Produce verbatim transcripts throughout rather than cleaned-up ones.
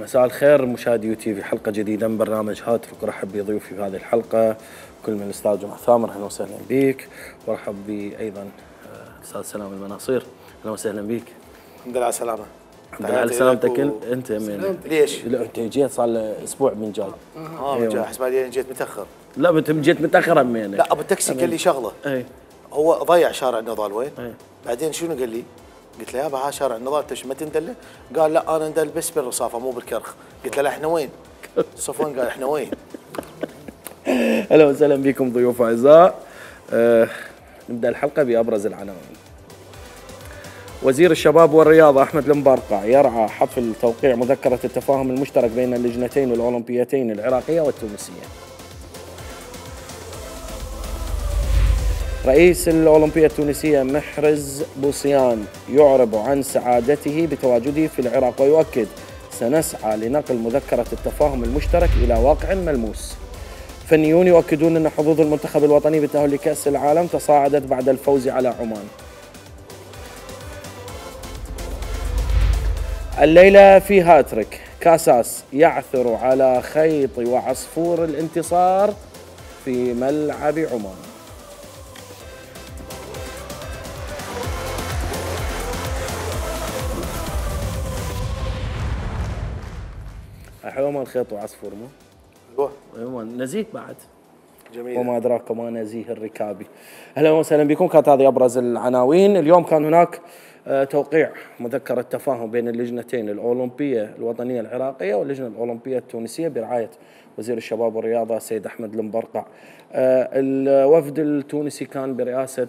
مساء الخير مشاهدي يو تي في، حلقة جديدة من برنامج هاتفك. ورحب بضيوفي في هذه الحلقة كل من الأستاذ جمعة ثامر، أهلا وسهلا بك. ورحب بي أيضا الأستاذ سلام المناصير، أهلا وسهلا بك. الحمد لله على السلامة. الحمد لله على سلامتك. و... أنت من ليش؟ لا أنت جيت صار له أسبوع من جاي. اه من جاي، أحسب بعدين جيت متأخر. لا أنت جيت متأخر أمينك. لا أبو التاكسي قال لي شغلة. أي. هو ضيع شارع النضال وين؟ أي. بعدين شنو قال لي؟ قلت له يابا ها شارع النضال انت ما تندله؟ قال لا انا ندل بس بالرصافه مو بالكرخ. قلت له لا احنا وين؟ صفوان قال احنا وين؟ اهلا وسهلا بكم ضيوف اعزاء. أه نبدا الحلقه بابرز العناوين. وزير الشباب والرياضه احمد المبرقع يرعى حفل توقيع مذكره التفاهم المشترك بين اللجنتين الاولمبيتين العراقيه والتونسيه. رئيس الأولمبية التونسية محرز بوصيان يعرب عن سعادته بتواجده في العراق ويؤكد سنسعى لنقل مذكرة التفاهم المشترك إلى واقع ملموس. فنيون يؤكدون أن حظوظ المنتخب الوطني بالتأهل لكأس العالم تصاعدت بعد الفوز على عمان. الليلة في هاتريك، كاساس يعثر على خيط وعصفور الانتصار في ملعب عمان. حلو ما الخيط وعصفور مو؟ ايوه ايوه نزيه بعد. جميل. وما ادراك ما نزيه الركابي. اهلا وسهلا بكم. كانت هذه ابرز العناوين. اليوم كان هناك توقيع مذكرة تفاهم بين اللجنتين الأولمبية الوطنية العراقية واللجنة الأولمبية التونسية برعاية وزير الشباب والرياضة السيد أحمد المبرقع. الوفد التونسي كان برئاسة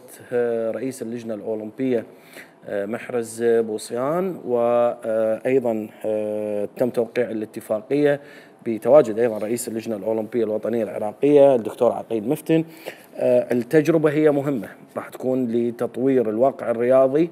رئيس اللجنة الأولمبية محرز بوصيان، وأيضا تم توقيع الاتفاقية بتواجد أيضا رئيس اللجنة الأولمبية الوطنية العراقية الدكتور عقيل مفتن. التجربة هي مهمة، راح تكون لتطوير الواقع الرياضي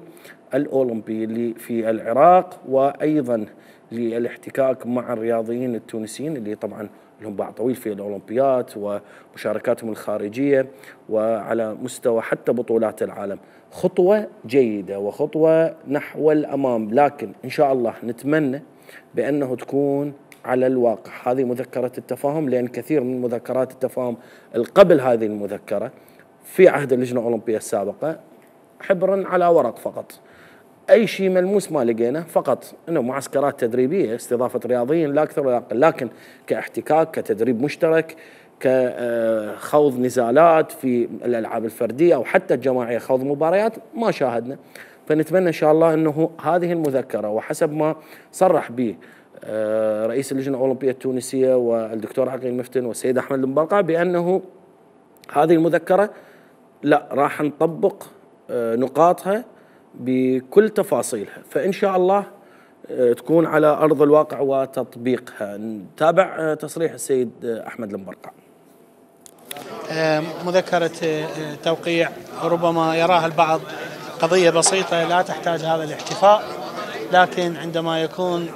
الأولمبي اللي في العراق، وأيضا للاحتكاك مع الرياضيين التونسيين اللي طبعا لهم باع طويل في الأولمبيات ومشاركاتهم الخارجية وعلى مستوى حتى بطولات العالم. خطوة جيدة وخطوة نحو الأمام، لكن إن شاء الله نتمنى بأنه تكون على الواقع هذه مذكرة التفاهم، لأن كثير من مذكرات التفاهم قبل هذه المذكرة في عهد اللجنة الأولمبية السابقة حبر على ورق فقط، أي شيء ملموس ما لقينا، فقط إنه معسكرات تدريبية استضافة رياضيين لا أكثر ولا أقل، لكن كاحتكاك كتدريب مشترك كخوض نزالات في الألعاب الفردية أو حتى الجماعية خوض مباريات ما شاهدنا. فنتمنى إن شاء الله أنه هذه المذكرة وحسب ما صرح به رئيس اللجنة الأولمبية التونسية والدكتور عقيل مفتن والسيد أحمد المبرقع بأنه هذه المذكرة لا راح نطبق نقاطها بكل تفاصيلها، فإن شاء الله تكون على أرض الواقع وتطبيقها. نتابع تصريح السيد أحمد المبرقع. مذكرة توقيع ربما يراها البعض قضية بسيطة لا تحتاج هذا الاحتفاء، لكن عندما يكون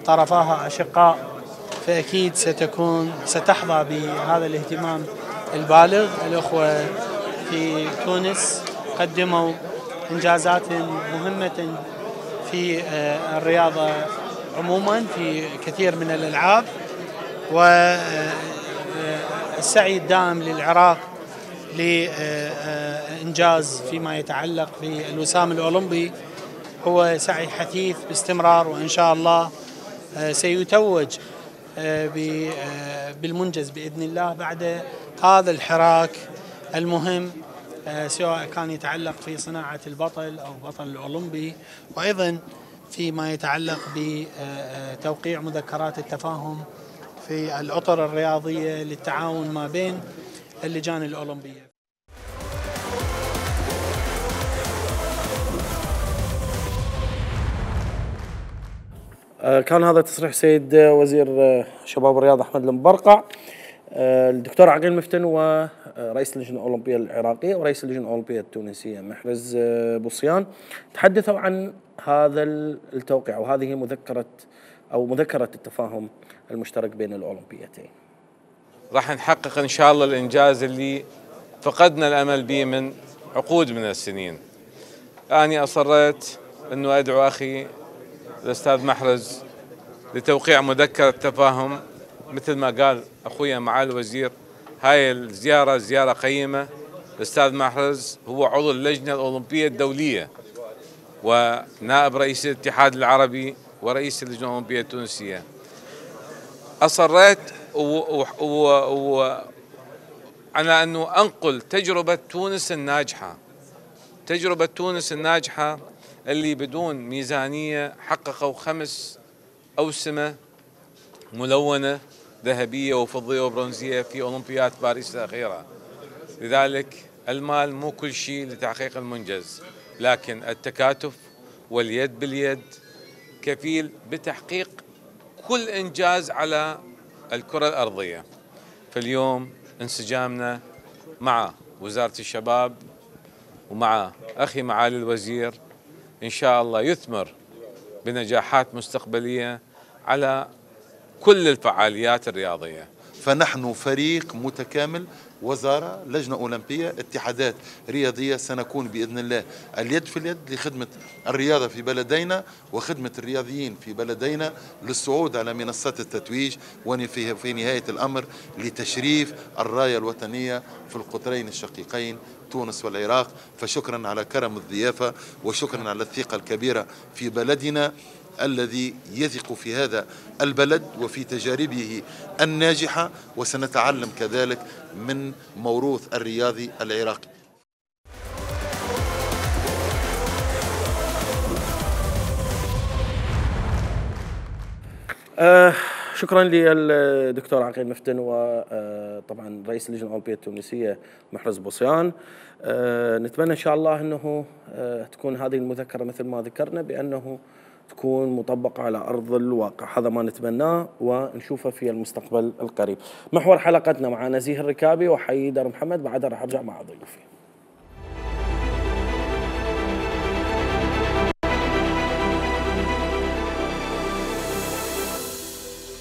طرفاها أشقاء فأكيد ستكون ستحظى بهذا الاهتمام البالغ. الأخوة في تونس قدموا إنجازات مهمة في الرياضة عموما في كثير من الألعاب، والسعي الدائم للعراق لإنجاز فيما يتعلق في الوسام الأولمبي هو سعي حثيث باستمرار، وإن شاء الله سيتوج بالمنجز بإذن الله بعد هذا الحراك المهم، سواء كان يتعلق في صناعة البطل أو بطل الأولمبي، وأيضا فيما يتعلق بتوقيع مذكرات التفاهم في الأطر الرياضية للتعاون ما بين اللجان الأولمبية. كان هذا تصريح سيد وزير الشباب والرياضة أحمد المبرقع. الدكتور عقيل مفتن ورئيس اللجنة الأولمبية العراقية ورئيس اللجنة الأولمبية التونسية محرز بوصيان تحدثوا عن هذا التوقيع وهذه مذكرة أو مذكرة التفاهم المشترك بين الأولمبيتين. راح نحقق إن شاء الله الإنجاز اللي فقدنا الأمل به من عقود من السنين. أنا أصريت أنه أدعو أخي الأستاذ محرز لتوقيع مذكرة تفاهم. مثل ما قال أخويا معالي الوزير، هاي الزيارة زيارة قيمة. الأستاذ محرز هو عضو اللجنة الأولمبية الدولية ونائب رئيس الاتحاد العربي ورئيس اللجنة الأولمبية التونسية. أصريت و... و... و... و... على أنه أنقل تجربة تونس الناجحة، تجربة تونس الناجحة اللي بدون ميزانية حققوا خمس أوسمة ملونة ذهبية وفضية وبرونزية في أولمبياد باريس الأخيرة. لذلك المال مو كل شيء لتحقيق المنجز، لكن التكاتف واليد باليد كفيل بتحقيق كل إنجاز على الكرة الأرضية. فاليوم انسجامنا مع وزارة الشباب ومع أخي معالي الوزير إن شاء الله يثمر بنجاحات مستقبلية على كل الفعاليات الرياضية. فنحن فريق متكامل، وزارة، لجنة أولمبية، اتحادات رياضية، سنكون بإذن الله اليد في اليد لخدمة الرياضة في بلدينا وخدمة الرياضيين في بلدينا للصعود على منصات التتويج، وفي نهاية الأمر لتشريف الراية الوطنية في القطرين الشقيقين تونس والعراق. فشكرا على كرم الضيافة وشكرا على الثقة الكبيرة في بلدنا الذي يثق في هذا البلد وفي تجاربه الناجحة، وسنتعلم كذلك من موروث الرياضي العراقي. آه شكرا للدكتور عقيل مفتن وطبعا رئيس اللجنة الأولمبية التونسية محرز بوصيان. آه نتمنى إن شاء الله أنه آه تكون هذه المذكرة مثل ما ذكرنا بأنه تكون مطبقة على أرض الواقع، هذا ما نتمناه ونشوفه في المستقبل القريب. محور حلقتنا مع نزيه الركابي وحيدر محمد، بعدها راح أرجع مع ضيوفي.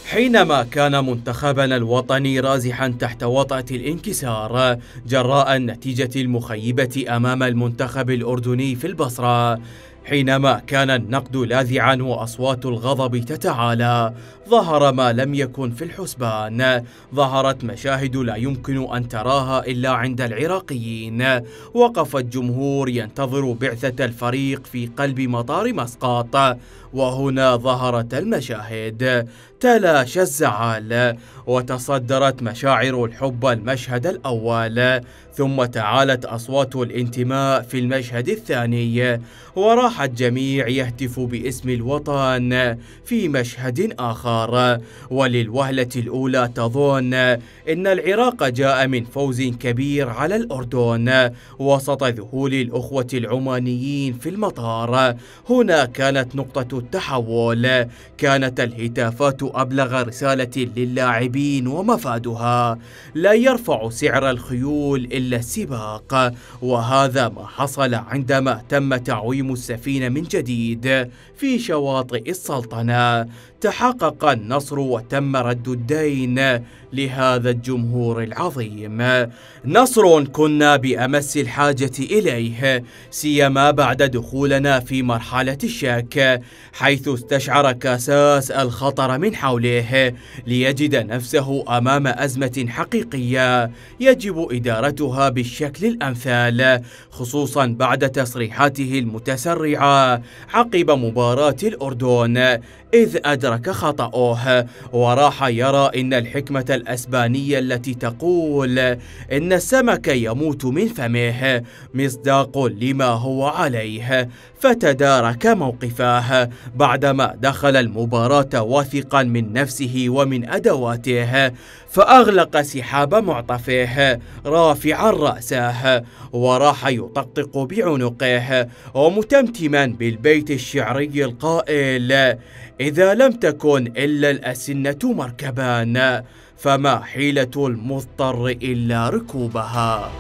حينما كان منتخبنا الوطني رازحا تحت وطأة الانكسار جراء النتيجة المخيبة أمام المنتخب الأردني في البصرة، حينما كان النقد لاذعا وأصوات الغضب تتعالى، ظهر ما لم يكن في الحسبان. ظهرت مشاهد لا يمكن أن تراها إلا عند العراقيين. وقف الجمهور ينتظر بعثة الفريق في قلب مطار مسقط، وهنا ظهرت المشاهد. تلاشى الزعل وتصدرت مشاعر الحب المشهد الأول، ثم تعالت أصوات الانتماء في المشهد الثاني، وراح الجميع يهتف باسم الوطن في مشهد آخر. وللوهلة الأولى تظن إن العراق جاء من فوز كبير على الأردن وسط ذهول الأخوة العمانيين في المطار. هنا كانت نقطة التحول، كانت الهتافات أبلغ رسالة للاعبين ومفادها: لا يرفع سعر الخيول إلا السباق. وهذا ما حصل عندما تم تعويم السفينة من جديد في شواطئ السلطنة. تحقق النصر وتم رد الدين لهذا الجمهور العظيم، نصر كنا بأمس الحاجة إليه، سيما بعد دخولنا في مرحلة الشك، حيث استشعر كاساس الخطر من حوله ليجد نفسه أمام أزمة حقيقية يجب إدارتها بالشكل الأمثل، خصوصا بعد تصريحاته المتسرعة عقب مباراة الأردن، إذ أدرك خطأه وراح يرى إن الحكمة الأسبانية التي تقول إن السمك يموت من فمه مصداق لما هو عليه، فتدارك موقفه بعدما دخل المباراة واثقا من نفسه ومن أدواته، فأغلق سحاب معطفه رافعا رأسه وراح يطقطق بعنقه ومتمتما بالبيت الشعري القائل: إذا لم تكن إلا الأسنة مركبان فما حيلة المضطر إلا ركوبها.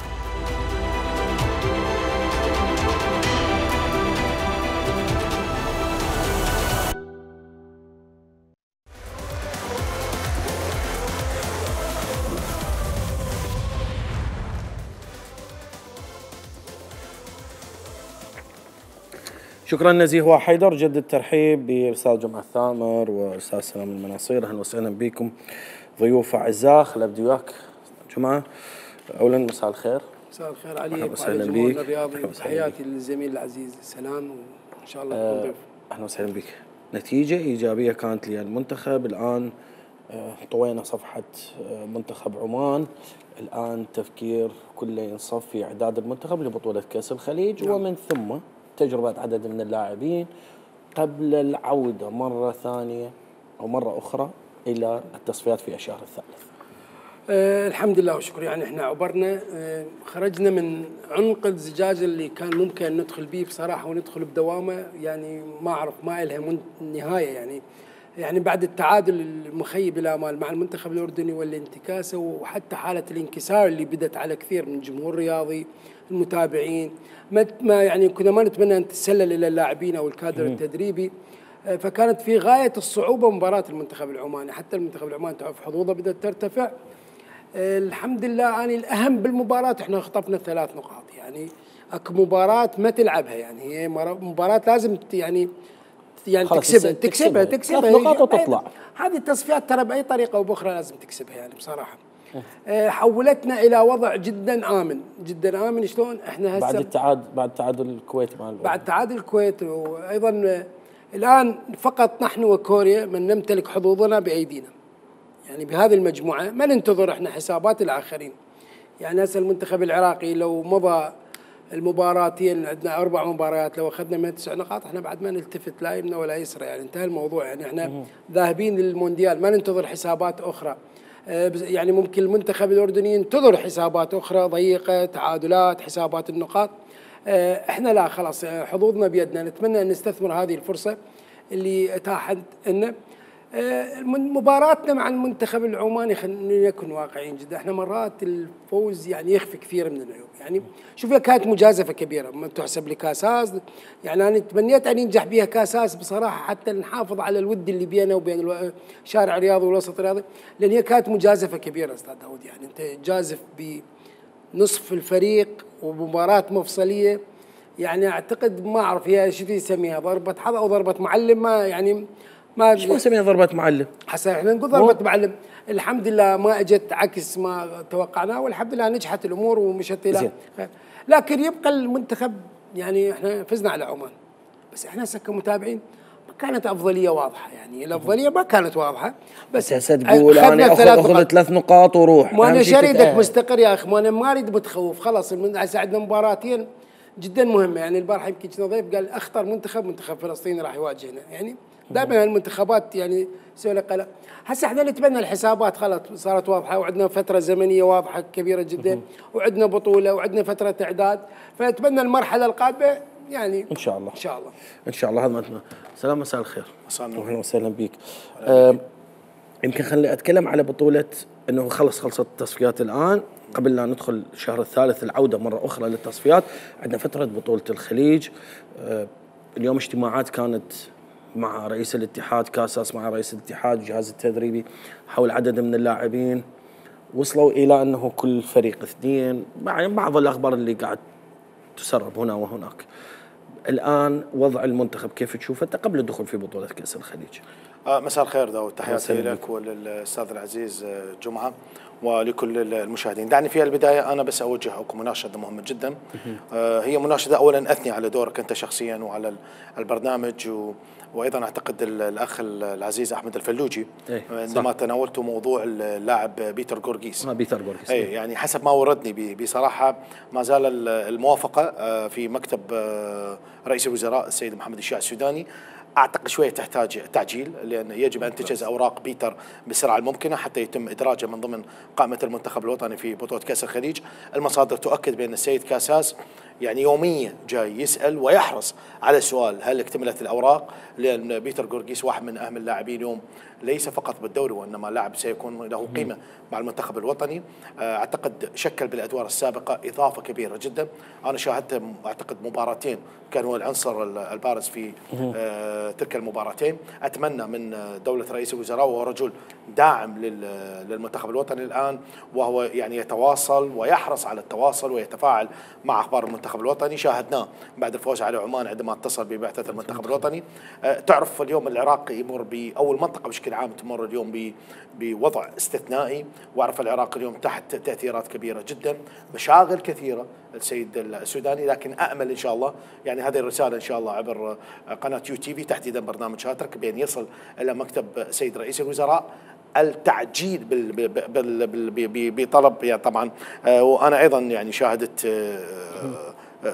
شكرا نزيه وحيدر، جد الترحيب بالاستاذ جمعه الثامر والاستاذ سلام المناصير. اهلا وسهلا بكم ضيوف اعزاء. خل ابدي وياك جمعه. اولا مساء الخير. مساء الخير عليك وعلى الجمهور الرياضي، وتحياتي للزميل العزيز سلام، وان شاء الله تكون ضيف. اهلا وسهلا بك. نتيجه ايجابيه كانت للمنتخب. الان طوينا صفحه منتخب عمان، الان تفكير كله ينصب في اعداد المنتخب لبطوله كاس الخليج، نعم. ومن ثم تجربه عدد من اللاعبين قبل العوده مره ثانيه او مره اخرى الى التصفيات في الشهر الثالث. أه الحمد لله وشكر. يعني احنا عبرنا، أه خرجنا من عنق الزجاج اللي كان ممكن ندخل به بصراحه وندخل بدوامه، يعني ما اعرف ما لها نهايه. يعني يعني بعد التعادل المخيب الامال مع المنتخب الاردني والانتكاسه، وحتى حاله الانكسار اللي بدت على كثير من الجمهور الرياضي المتابعين، ما يعني كنا ما نتمنى ان تتسلل الى اللاعبين او الكادر التدريبي. فكانت في غايه الصعوبه مباراه المنتخب العماني، حتى المنتخب العماني تعرف حظوظه بدات ترتفع. الحمد لله أنا الأهم بالمباراة احنا خطفنا ثلاث نقاط. يعني اكو مباراة ما تلعبها، يعني هي مباراة لازم يعني يعني تكسبها تكسبها تكسبها ثلاث نقاط وتطلع. هذه التصفيات ترى بأي طريقة أو بأخرى لازم تكسبها يعني بصراحة. حولتنا إلى وضع جدا آمن، جدا آمن. شلون احنا هسه بعد التعادل بعد تعادل الكويت مع بعد تعادل الكويت، وأيضا الآن فقط نحن وكوريا من نمتلك حظوظنا بأيدينا. يعني بهذه المجموعة ما ننتظر احنا حسابات الآخرين. يعني هسه المنتخب العراقي لو مضى المباراتين، عندنا أربع مباريات، لو أخذنا من تسع نقاط احنا بعد ما نلتفت لا يمنى ولا يسرى، يعني انتهى الموضوع. يعني احنا ذاهبين للمونديال ما ننتظر حسابات أخرى. يعني ممكن المنتخب الأردني ينتظر حسابات أخرى ضيقة، تعادلات، حسابات النقاط. احنا لا، خلاص حظوظنا بيدنا. نتمنى أن نستثمر هذه الفرصة اللي اتاحت لنا. مباراتنا مع المنتخب العماني خلينا نكون واقعيين جدا، احنا مرات الفوز يعني يخفي كثير من العيوب. يعني شوف كانت مجازفه كبيره ما تحسب لكاساس، يعني انا تمنيت ان ينجح بها كاساس بصراحه حتى نحافظ على الود اللي بينه وبين الشارع الرياضي والوسط الرياضي، لان هي كانت مجازفه كبيره استاذ داود. يعني انت جازف بنصف الفريق ومباراه مفصليه، يعني اعتقد ما اعرف هي شو يسميها ضربه حظ او ضربه معلم، ما يعني ما شو نسميها ضربة معلم؟ حسنا احنا نقول ضربة معلم. الحمد لله ما اجت عكس ما توقعناه، والحمد لله نجحت الامور ومشت الى خير. لكن يبقى المنتخب، يعني احنا فزنا على عمان، بس احنا هسه كمتابعين ما كانت افضليه واضحه. يعني الافضليه ما كانت واضحه، بس هسه تقول انا اخذ ثلاث نقاط وروح. ما انا شريدك مستقر يا اخي، ما انا ما اريد متخوف. خلاص هسه عندنا مباراتين جدا مهمه. يعني البارحه يمكن كنا ضيف قال اخطر منتخب منتخب فلسطين راح يواجهنا. يعني دائما المنتخبات يعني تسوي لك قلق. هسه احنا نتمنى الحسابات خلاص صارت واضحه، وعندنا فتره زمنيه واضحه كبيره جدا، وعندنا بطوله وعندنا فتره اعداد، فنتمنى المرحله القادمه يعني ان شاء الله ان شاء الله ان شاء الله. هذا ما سلام. مساء الخير. مساء النور. اهلا وسهلا بك. آه يمكن خليني اتكلم على بطوله انه خلص خلصت التصفيات الان، قبل لا ندخل الشهر الثالث العوده مره اخرى للتصفيات. عندنا فتره بطوله الخليج. آه اليوم اجتماعات كانت مع رئيس الاتحاد كاساس، مع رئيس الاتحاد الجهاز التدريبي حول عدد من اللاعبين، وصلوا الى انه كل فريق اثنين، بعض الاخبار اللي قاعد تسرب هنا وهناك. الان وضع المنتخب كيف تشوفه انت قبل الدخول في بطوله كاس الخليج؟ آه مساء الخير داود، تحياتي لك وللاستاذ العزيز جمعه ولكل المشاهدين. دعني في البدايه انا بس اوجهكم مناشده مهمه جدا. آه هي مناشده اولا اثني على دورك انت شخصيا وعلى البرنامج، و وايضا اعتقد الاخ العزيز احمد الفلوجي عندما تناولتوا موضوع اللاعب بيتر غورغيس. اه بيتر غورغيس. اي يعني حسب ما وردني بصراحه ما زال الموافقه في مكتب رئيس الوزراء السيد محمد الشيع السوداني. اعتقد شويه تحتاج تعجيل، لان يجب ان تجهز اوراق بيتر بالسرعه الممكنه حتى يتم ادراجه من ضمن قائمه المنتخب الوطني في بطوله كاس الخليج. المصادر تؤكد بان السيد كاساس يعني يوميا جاي يسال ويحرص على السؤال هل اكتملت الاوراق، لان بيتر غورغيس واحد من اهم اللاعبين اليوم ليس فقط بالدوري وانما لاعب سيكون له قيمه مع المنتخب الوطني. اعتقد شكل بالادوار السابقه اضافه كبيره جدا. انا شاهدت اعتقد مباراتين كان هو العنصر البارز في تلك المباراتين. اتمنى من دوله رئيس الوزراء، وهو رجل داعم للمنتخب الوطني الان، وهو يعني يتواصل ويحرص على التواصل ويتفاعل مع اخبار المنتخب الوطني. شاهدناه بعد الفوز على عمان عندما اتصل ببعثه المنتخب الوطني. تعرف اليوم العراق يمر او المنطقه بشكل عام تمر اليوم بوضع استثنائي، واعرف العراق اليوم تحت تاثيرات كبيره جدا، مشاغل كثيره السيد السوداني، لكن امل ان شاء الله يعني هذه الرساله ان شاء الله عبر قناه يو تي في تحديدا برنامج هاترك بان يصل الى مكتب سيد رئيس الوزراء التعجيل بطلب يعني طبعا. وانا ايضا يعني شاهدت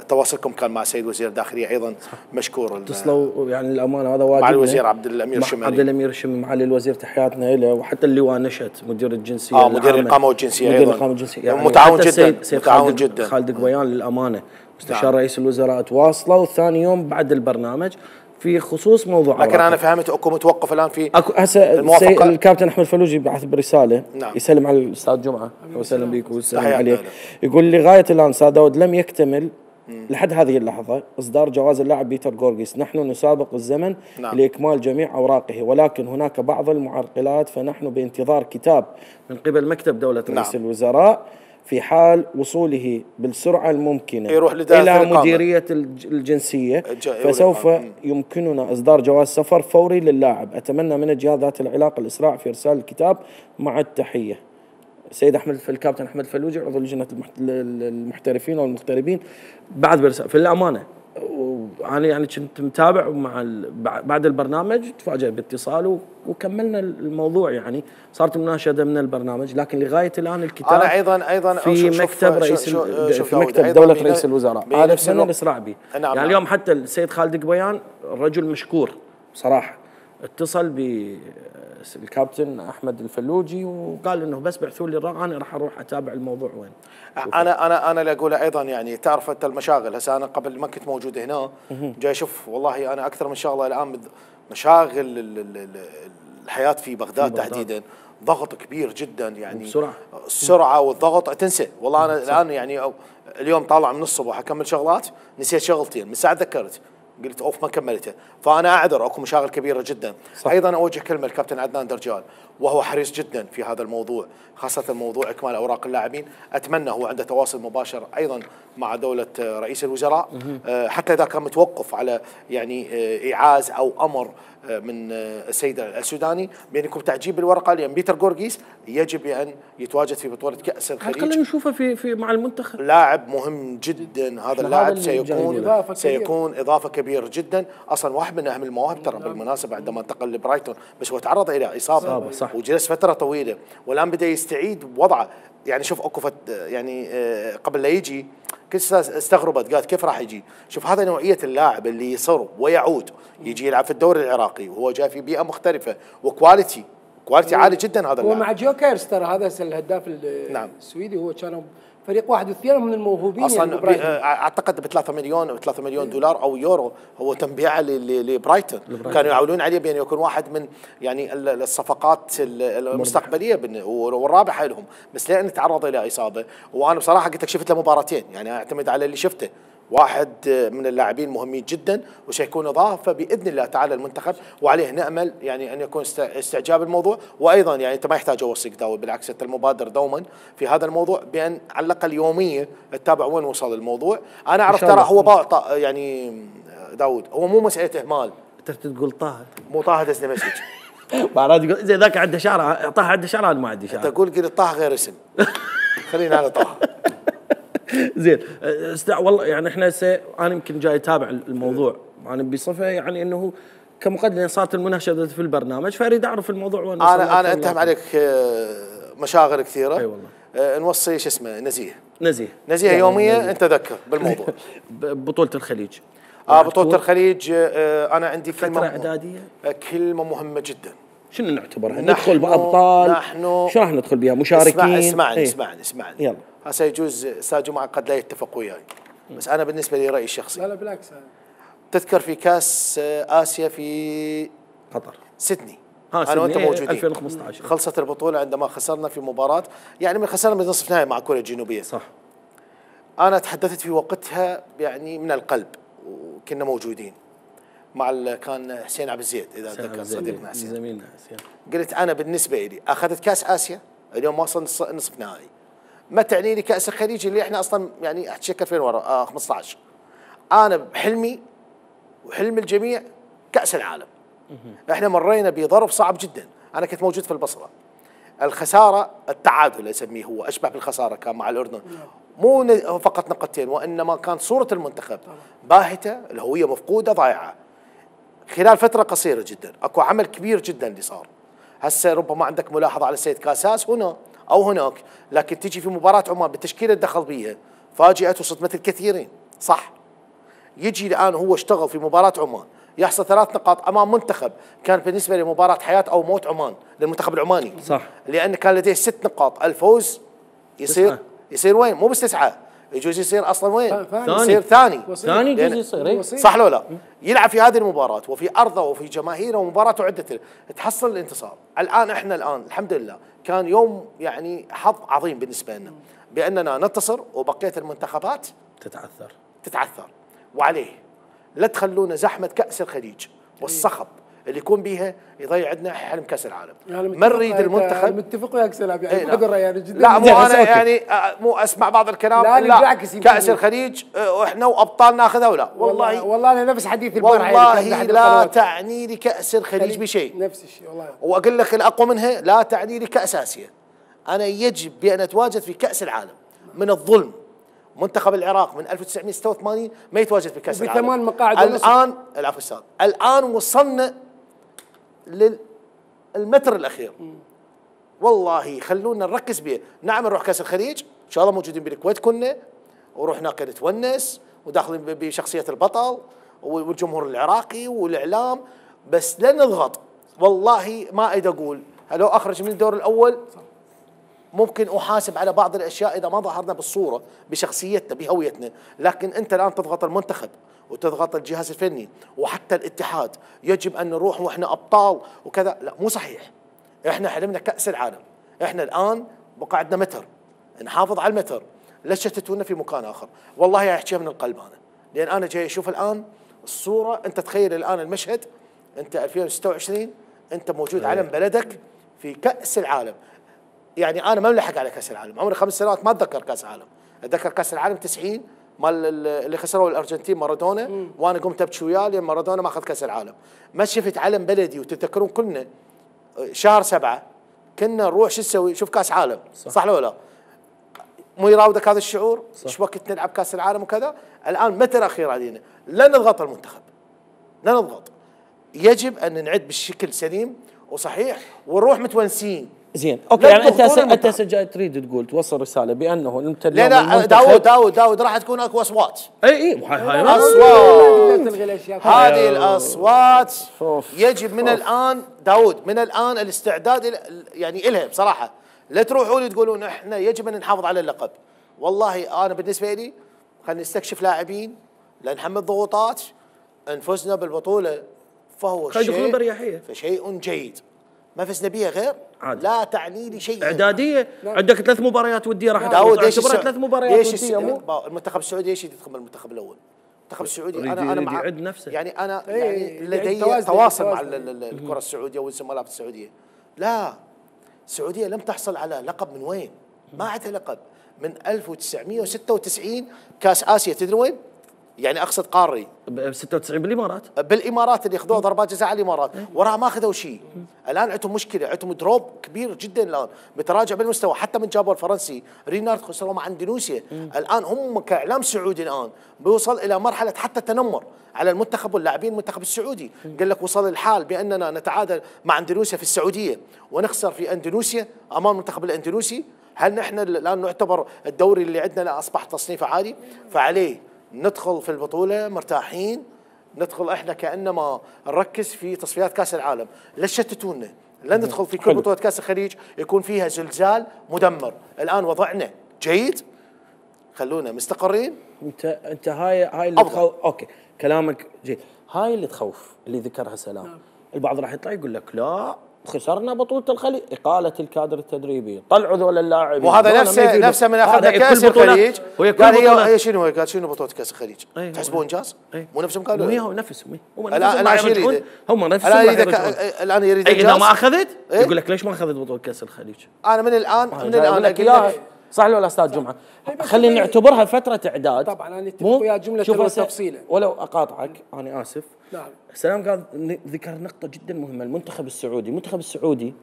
تواصلكم كان مع السيد وزير الداخليه ايضا مشكور. اتصلوا يعني الامانه هذا واجبنا مع الوزير عبد الامير الشمالي، عبد الامير الشمالي، معالي الوزير تحياتنا له، وحتى اللواء نشأت مدير الجنسيه اه مدير الاقامه والجنسيه مدير ايضا الاقامه والجنسيه يعني متعاون جدا سيد سيد متعاون خالد جدا خالد قبيان للامانه مستشار نعم. رئيس الوزراء تواصلوا ثاني يوم بعد البرنامج في خصوص موضوع لكن انا فهمت اكو متوقف الان في اكو هسه الكابتن احمد فلوجي بعث برساله نعم. يسلم على الاستاذ جمعه وسلم بيك ويسلم عليك، يقول لغايه الان استاذ داود لم يكتمل مم. لحد هذه اللحظه اصدار جواز اللاعب بيتر غورغيس. نحن نسابق الزمن نعم. لاكمال جميع اوراقه، ولكن هناك بعض المعرقلات، فنحن بانتظار كتاب من قبل مكتب دوله رئيس نعم. الوزراء في حال وصوله بالسرعه الممكنه يروح الى مديريه الجنسيه فسوف يمكننا اصدار جواز سفر فوري للاعب. اتمنى من الجهات ذات العلاقه الاسراع في ارسال الكتاب مع التحيه. السيد احمد الكابتن احمد فلوجي عضو لجنه المحترفين والمغتربين بعد برسالة. في الامانه انا يعني كنت متابع مع بعد البرنامج، تفاجأت باتصاله وكملنا الموضوع، يعني صارت مناشده من البرنامج، لكن لغايه الان الكتاب انا ايضا ايضا في مكتب رئيس في مكتب دوله رئيس الوزراء. هذا اتمنى الاسراع به. نعم يعني اليوم حتى السيد خالد قبيان رجل مشكور صراحه، اتصل بالكابتن احمد الفلوجي وقال انه بس بعثوا لي الرقم انا راح اروح اتابع الموضوع وين. انا انا انا اللي اقوله ايضا يعني تعرف انت المشاغل. هسه انا قبل ما كنت موجود هنا جاي اشوف والله انا اكثر من شغله الان مشاغل الحياه في بغداد تحديدا، ضغط كبير جدا يعني بسرعه السرعه والضغط تنسى. والله انا الان يعني اليوم طالع من الصبح اكمل شغلات نسيت شغلتين من ساعه تذكرت قلت اوف ما كملتها، فانا اعذر اكو مشاغل كبيره جدا. صح. ايضا اوجه كلمه الكابتن عدنان درجال وهو حريص جدا في هذا الموضوع، خاصه موضوع اكمال اوراق اللاعبين. اتمنى هو عنده تواصل مباشر ايضا مع دوله رئيس الوزراء حتى اذا كان متوقف على يعني ايعاز او امر من السيد السوداني بان يكون تعجيل بالورقه، لان بيتر غورغيس يجب ان يتواجد في بطوله كاس الخليج. خلينا نشوفه في في مع المنتخب. لاعب مهم جدا هذا اللاعب، سيكون إضافة سيكون اضافه كبيره جدا. اصلا واحد من اهم المواهب ترى بالمناسبه عندما انتقل لبرايتون، بس هو تعرض الى اصابه وجلس فتره طويله والان بدا يستعيد وضعه. يعني شوف اكو يعني قبل لا يجي كنت استغربت قالت كيف راح يجي. شوف هذا نوعيه اللاعب اللي يصر ويعود يجي يلعب في الدوري العراقي وهو جاي في بيئه مختلفه وكواليتي كواليتي عالي جدا. هذا هو اللاعب مع جوكيرز ترى هذا الهداف نعم. السويدي هو كانوا فريق واحد واثنين من الموهوبين اصلا يعني اعتقد ب ثلاثة مليون ثلاثة مليون دولار او يورو هو تم بيعه لبرايتون. كانوا يعولون عليه بان يكون واحد من يعني الصفقات المستقبليه والرابحه لهم، بس لان تعرض الى اصابه. وانا بصراحه قلت لك شفت له مباراتين يعني اعتمد على اللي شفته، واحد من اللاعبين مهمين جدا وسيكون اضافه باذن الله تعالى المنتخب، وعليه نامل يعني ان يكون استعجاب الموضوع. وايضا يعني انت ما يحتاج اوصيك داود، بالعكس انت المبادر دوما في هذا الموضوع بان على الاقل يوميا تتابع وين وصل الموضوع. انا اعرف ترى هو يعني داود هو مو مساله اهمال. انت تقول طه مو طه دزني مسج بعد يقول اذا ذاك عنده شعر طه عنده شعر انا ما عندي شعر. تقول قلت طه غير اسم خلينا على طه. زين استع والله يعني احنا سي... انا يمكن جاي اتابع الموضوع انا بصفه يعني انه كمقدمه صارت المناشده في البرنامج فاريد اعرف الموضوع وين. انا انا انتهم عليك مشاغل كثيره. اي والله. أه نوصي شو اسمه نزيه نزيه نزيه يعني يوميا انت تذكر بالموضوع. بطوله الخليج اه بطوله الخليج. آه انا عندي كلمه اعداديه كلمه مهمه جدا. شنو نعتبرها؟ ندخل بابطال؟ نحن شو راح ندخل بها؟ مشاركين؟ اسمع اسمعني ايه؟ اسمعني اسمعني يلا. هسه يجوز استاذ جمعه قد لا يتفق وياي، بس انا بالنسبه لي رايي الشخصي. لا لا بالعكس. تذكر في كاس اسيا في قطر سيدني ها انا وانت موجودين ألفين وخمسة عشر خلصت البطوله عندما خسرنا في مباراه يعني من خسرنا من نصف نهائي مع كوريا الجنوبيه. صح. انا تحدثت في وقتها يعني من القلب وكنا موجودين. مع ال- كان حسين عبد الزيد اذا اتذكر صديقنا حسين. زميلنا حسين. قلت انا بالنسبه لي اخذت كاس اسيا اليوم واصل نص- نصف نهائي، ما تعني لي كاس الخليج اللي احنا اصلا يعني احكي لك ألفين ورا آه خمسة عشر. انا بحلمي وحلم الجميع كاس العالم. احنا مرينا بظرف صعب جدا، انا كنت موجود في البصره. الخساره التعادل اسميه هو اشبه بالخساره كان مع الاردن، مو ن- فقط نقطتين وانما كان صوره المنتخب باهته، الهويه مفقوده ضايعه. خلال فتره قصيره جدا اكو عمل كبير جدا اللي صار. هسه ربما عندك ملاحظه على سيد كاساس هنا او هناك، لكن تجي في مباراه عمان بالتشكيله اللي دخل بيها فاجات وصدمت الكثيرين، صح؟ يجي الان هو اشتغل في مباراه عمان يحصل ثلاث نقاط امام منتخب كان بالنسبه لمباراه حياه او موت عمان للمنتخب العماني، صح. لان كان لديه ست نقاط، الفوز يصير تسعة. يصير وين؟ مو بس تسعه، يجوز يصير اصلا وين؟ ثاني. يصير ثاني ثاني لأن- جزء يصير إيه؟ صح لو لا؟ يلعب في هذه المباراة وفي أرضه وفي جماهيره ومباراته عدة تحصل الانتصار. الآن احنا الآن الحمد لله كان يوم يعني حظ عظيم بالنسبة لنا بأننا ننتصر وبقية المنتخبات تتعثر. تتعثر. وعليه لا تخلونا زحمة كأس الخليج والصخب اللي يكون بيها يضيع عندنا حلم كأس العالم. يعني ما نريد المنتخب متفق وياك سلام يعني إيه ما ادري يعني جدا لا مو زين، انا بس أوكي. يعني آه، مو اسمع بعض الكلام لا، لا، بالعكس يمكن- كأس الخليج آه، واحنا وابطال ناخذها ولا والله والله والله انا نفس حديث البارحه يعني والله كان بأحد لا القنوات. تعني لي كأس الخليج بشيء، نفس الشيء والله. واقول لك الاقوى منها لا تعني لي كأس اسيا. انا يجب بان اتواجد في كأس العالم. من الظلم منتخب العراق من ألف وتسعمئة وستة وثمانين ما يتواجد في كأس العالم. وبثمان مقاعد ونصف. الان العفو استاذ، الان وصلنا للمتر الاخير. والله خلونا نركز به، نعم نروح كاس الخليج ان شاء الله موجودين بالكويت كنا ونروح هناك نتونس وداخلين بشخصيه البطل والجمهور العراقي والاعلام، بس لا نضغط. والله ما اريد اقول لو اخرج من الدور الاول ممكن احاسب على بعض الاشياء اذا ما ظهرنا بالصوره بشخصيتنا بهويتنا، لكن انت الان تضغط المنتخب وتضغط الجهاز الفني وحتى الاتحاد يجب ان نروح واحنا ابطال وكذا، لا مو صحيح. احنا حلمنا كاس العالم، احنا الان بقى عندنا متر نحافظ على المتر، لا تشتتونا في مكان اخر. والله احكيها من القلب انا، لان انا جاي اشوف الان الصوره. انت تخيل الان المشهد، انت ألفين وستة وعشرين انت موجود علم بلدك في كاس العالم. يعني انا ما ملحق على كاس العالم، عمري خمس سنوات ما اتذكر كاس العالم، اتذكر كاس العالم تسعين مال اللي خسروا الارجنتين مارادونا، وانا قمت ابكي وياه لان مارادونا ما اخذ كاس العالم. ما شفت علم بلدي، وتتذكرون كلنا شهر سبعة كنا نروح شو نسوي؟ شوف كاس عالم، صح, صح ولا لا؟ مو يراودك هذا الشعور؟ ايش وقت نلعب كاس العالم وكذا؟ الان متى الاخير علينا؟ لا نضغط المنتخب، لا نضغط. يجب ان نعد بشكل سليم وصحيح ونروح متونسين. زين اوكي، لا يعني انت تضغطون هسه انت المنتخب. هسه جاي تريد تقول توصل رساله بانه انت لا اليوم لا المنتخب- داود داود داود راح تكون اكو اصوات. اي اي هاي هاي اصوات، لا تلغي الاشياء. هذه الاصوات أوف. يجب من أوف. الان داود من الان الاستعداد إلى- يعني الها بصراحه. لا تروحوا لي تقولون احنا يجب ان نحافظ على اللقب. والله انا بالنسبه لي خلينا نستكشف لاعبين، لا نحمل ضغوطات، نفوزنا بالبطوله فهو خلي يدخلون شيء برياحيه. فشيء جيد. ما فزنا بها غير عادي. لا تعني لي شيء. اعداديه عندك ثلاث مباريات وديه راح داود ليش تعتبرها السع- ثلاث مباريات ليش وديه مو الس- المنتخب السعودي ليش يدخل المنتخب الاول؟ المنتخب السعودي يريد- انا انا يريد مع يعد نفسه. يعني انا إيه، يعني يعد لدي توازن- تواصل مع توازن. ال- ال- الكره السعوديه والزملاء في السعوديه. لا، السعوديه لم تحصل على لقب من وين؟ ما عندها لقب من ألف وتسعمئة وستة وتسعين كاس اسيا. تدري وين؟ يعني اقصد قاري ب ستة وتسعين بالامارات. بالامارات اللي اخذوها ضربات جزاء على الامارات، وراها ما اخذوا شيء. الان عندهم مشكله، عندهم دروب كبير جدا الان، بتراجع بالمستوى. حتى من جابوا الفرنسي رينارد خسروا مع اندونيسيا. الان هم كاعلام سعودي الان بيوصل الى مرحله حتى تنمر على المنتخب واللاعبين المنتخب السعودي. قال لك وصل الحال باننا نتعادل مع اندونيسيا في السعوديه ونخسر في اندونيسيا امام المنتخب الاندونيسي. هل نحن الان نعتبر الدوري اللي عندنا اصبح تصنيفه عالي؟ فعليه ندخل في البطوله مرتاحين، ندخل احنا كانما نركز في تصفيات كاس العالم. لا تشتتونا، لا ندخل في كل حلو. بطوله كاس الخليج يكون فيها زلزال مدمر. الان وضعنا جيد، خلونا مستقرين. انت انت هاي هاي اللي أفضل. تخوف. اوكي كلامك جيد، هاي اللي تخوف اللي ذكرها سلام. البعض راح يطلع يقول لك لا خسرنا بطوله الخليج، اقاله الكادر التدريبي، طلعوا ذول اللاعبين. وهذا نفسه نفسه من اخذنا كاس الخليج، قال هي هي شنو قال شنو بطوله كاس الخليج؟ تحسبون انجاز؟ مو نفسهم قالوا؟ مو هو نفسهم هم نفسهم هم نفسهم الان يريد انجاز. اذا ما اخذت يقول لك ليش ما اخذت بطوله كاس الخليج؟ انا من الان من الان اقول لك صح ولا استاذ جمعه؟ خلينا نعتبرها فتره اعداد. طبعا انا اتفق ويا جمله وتفصيله. ولو اقاطعك انا اسف. نعم. سلام قال ذكر نقطه جدا مهمه، المنتخب السعودي، المنتخب السعودي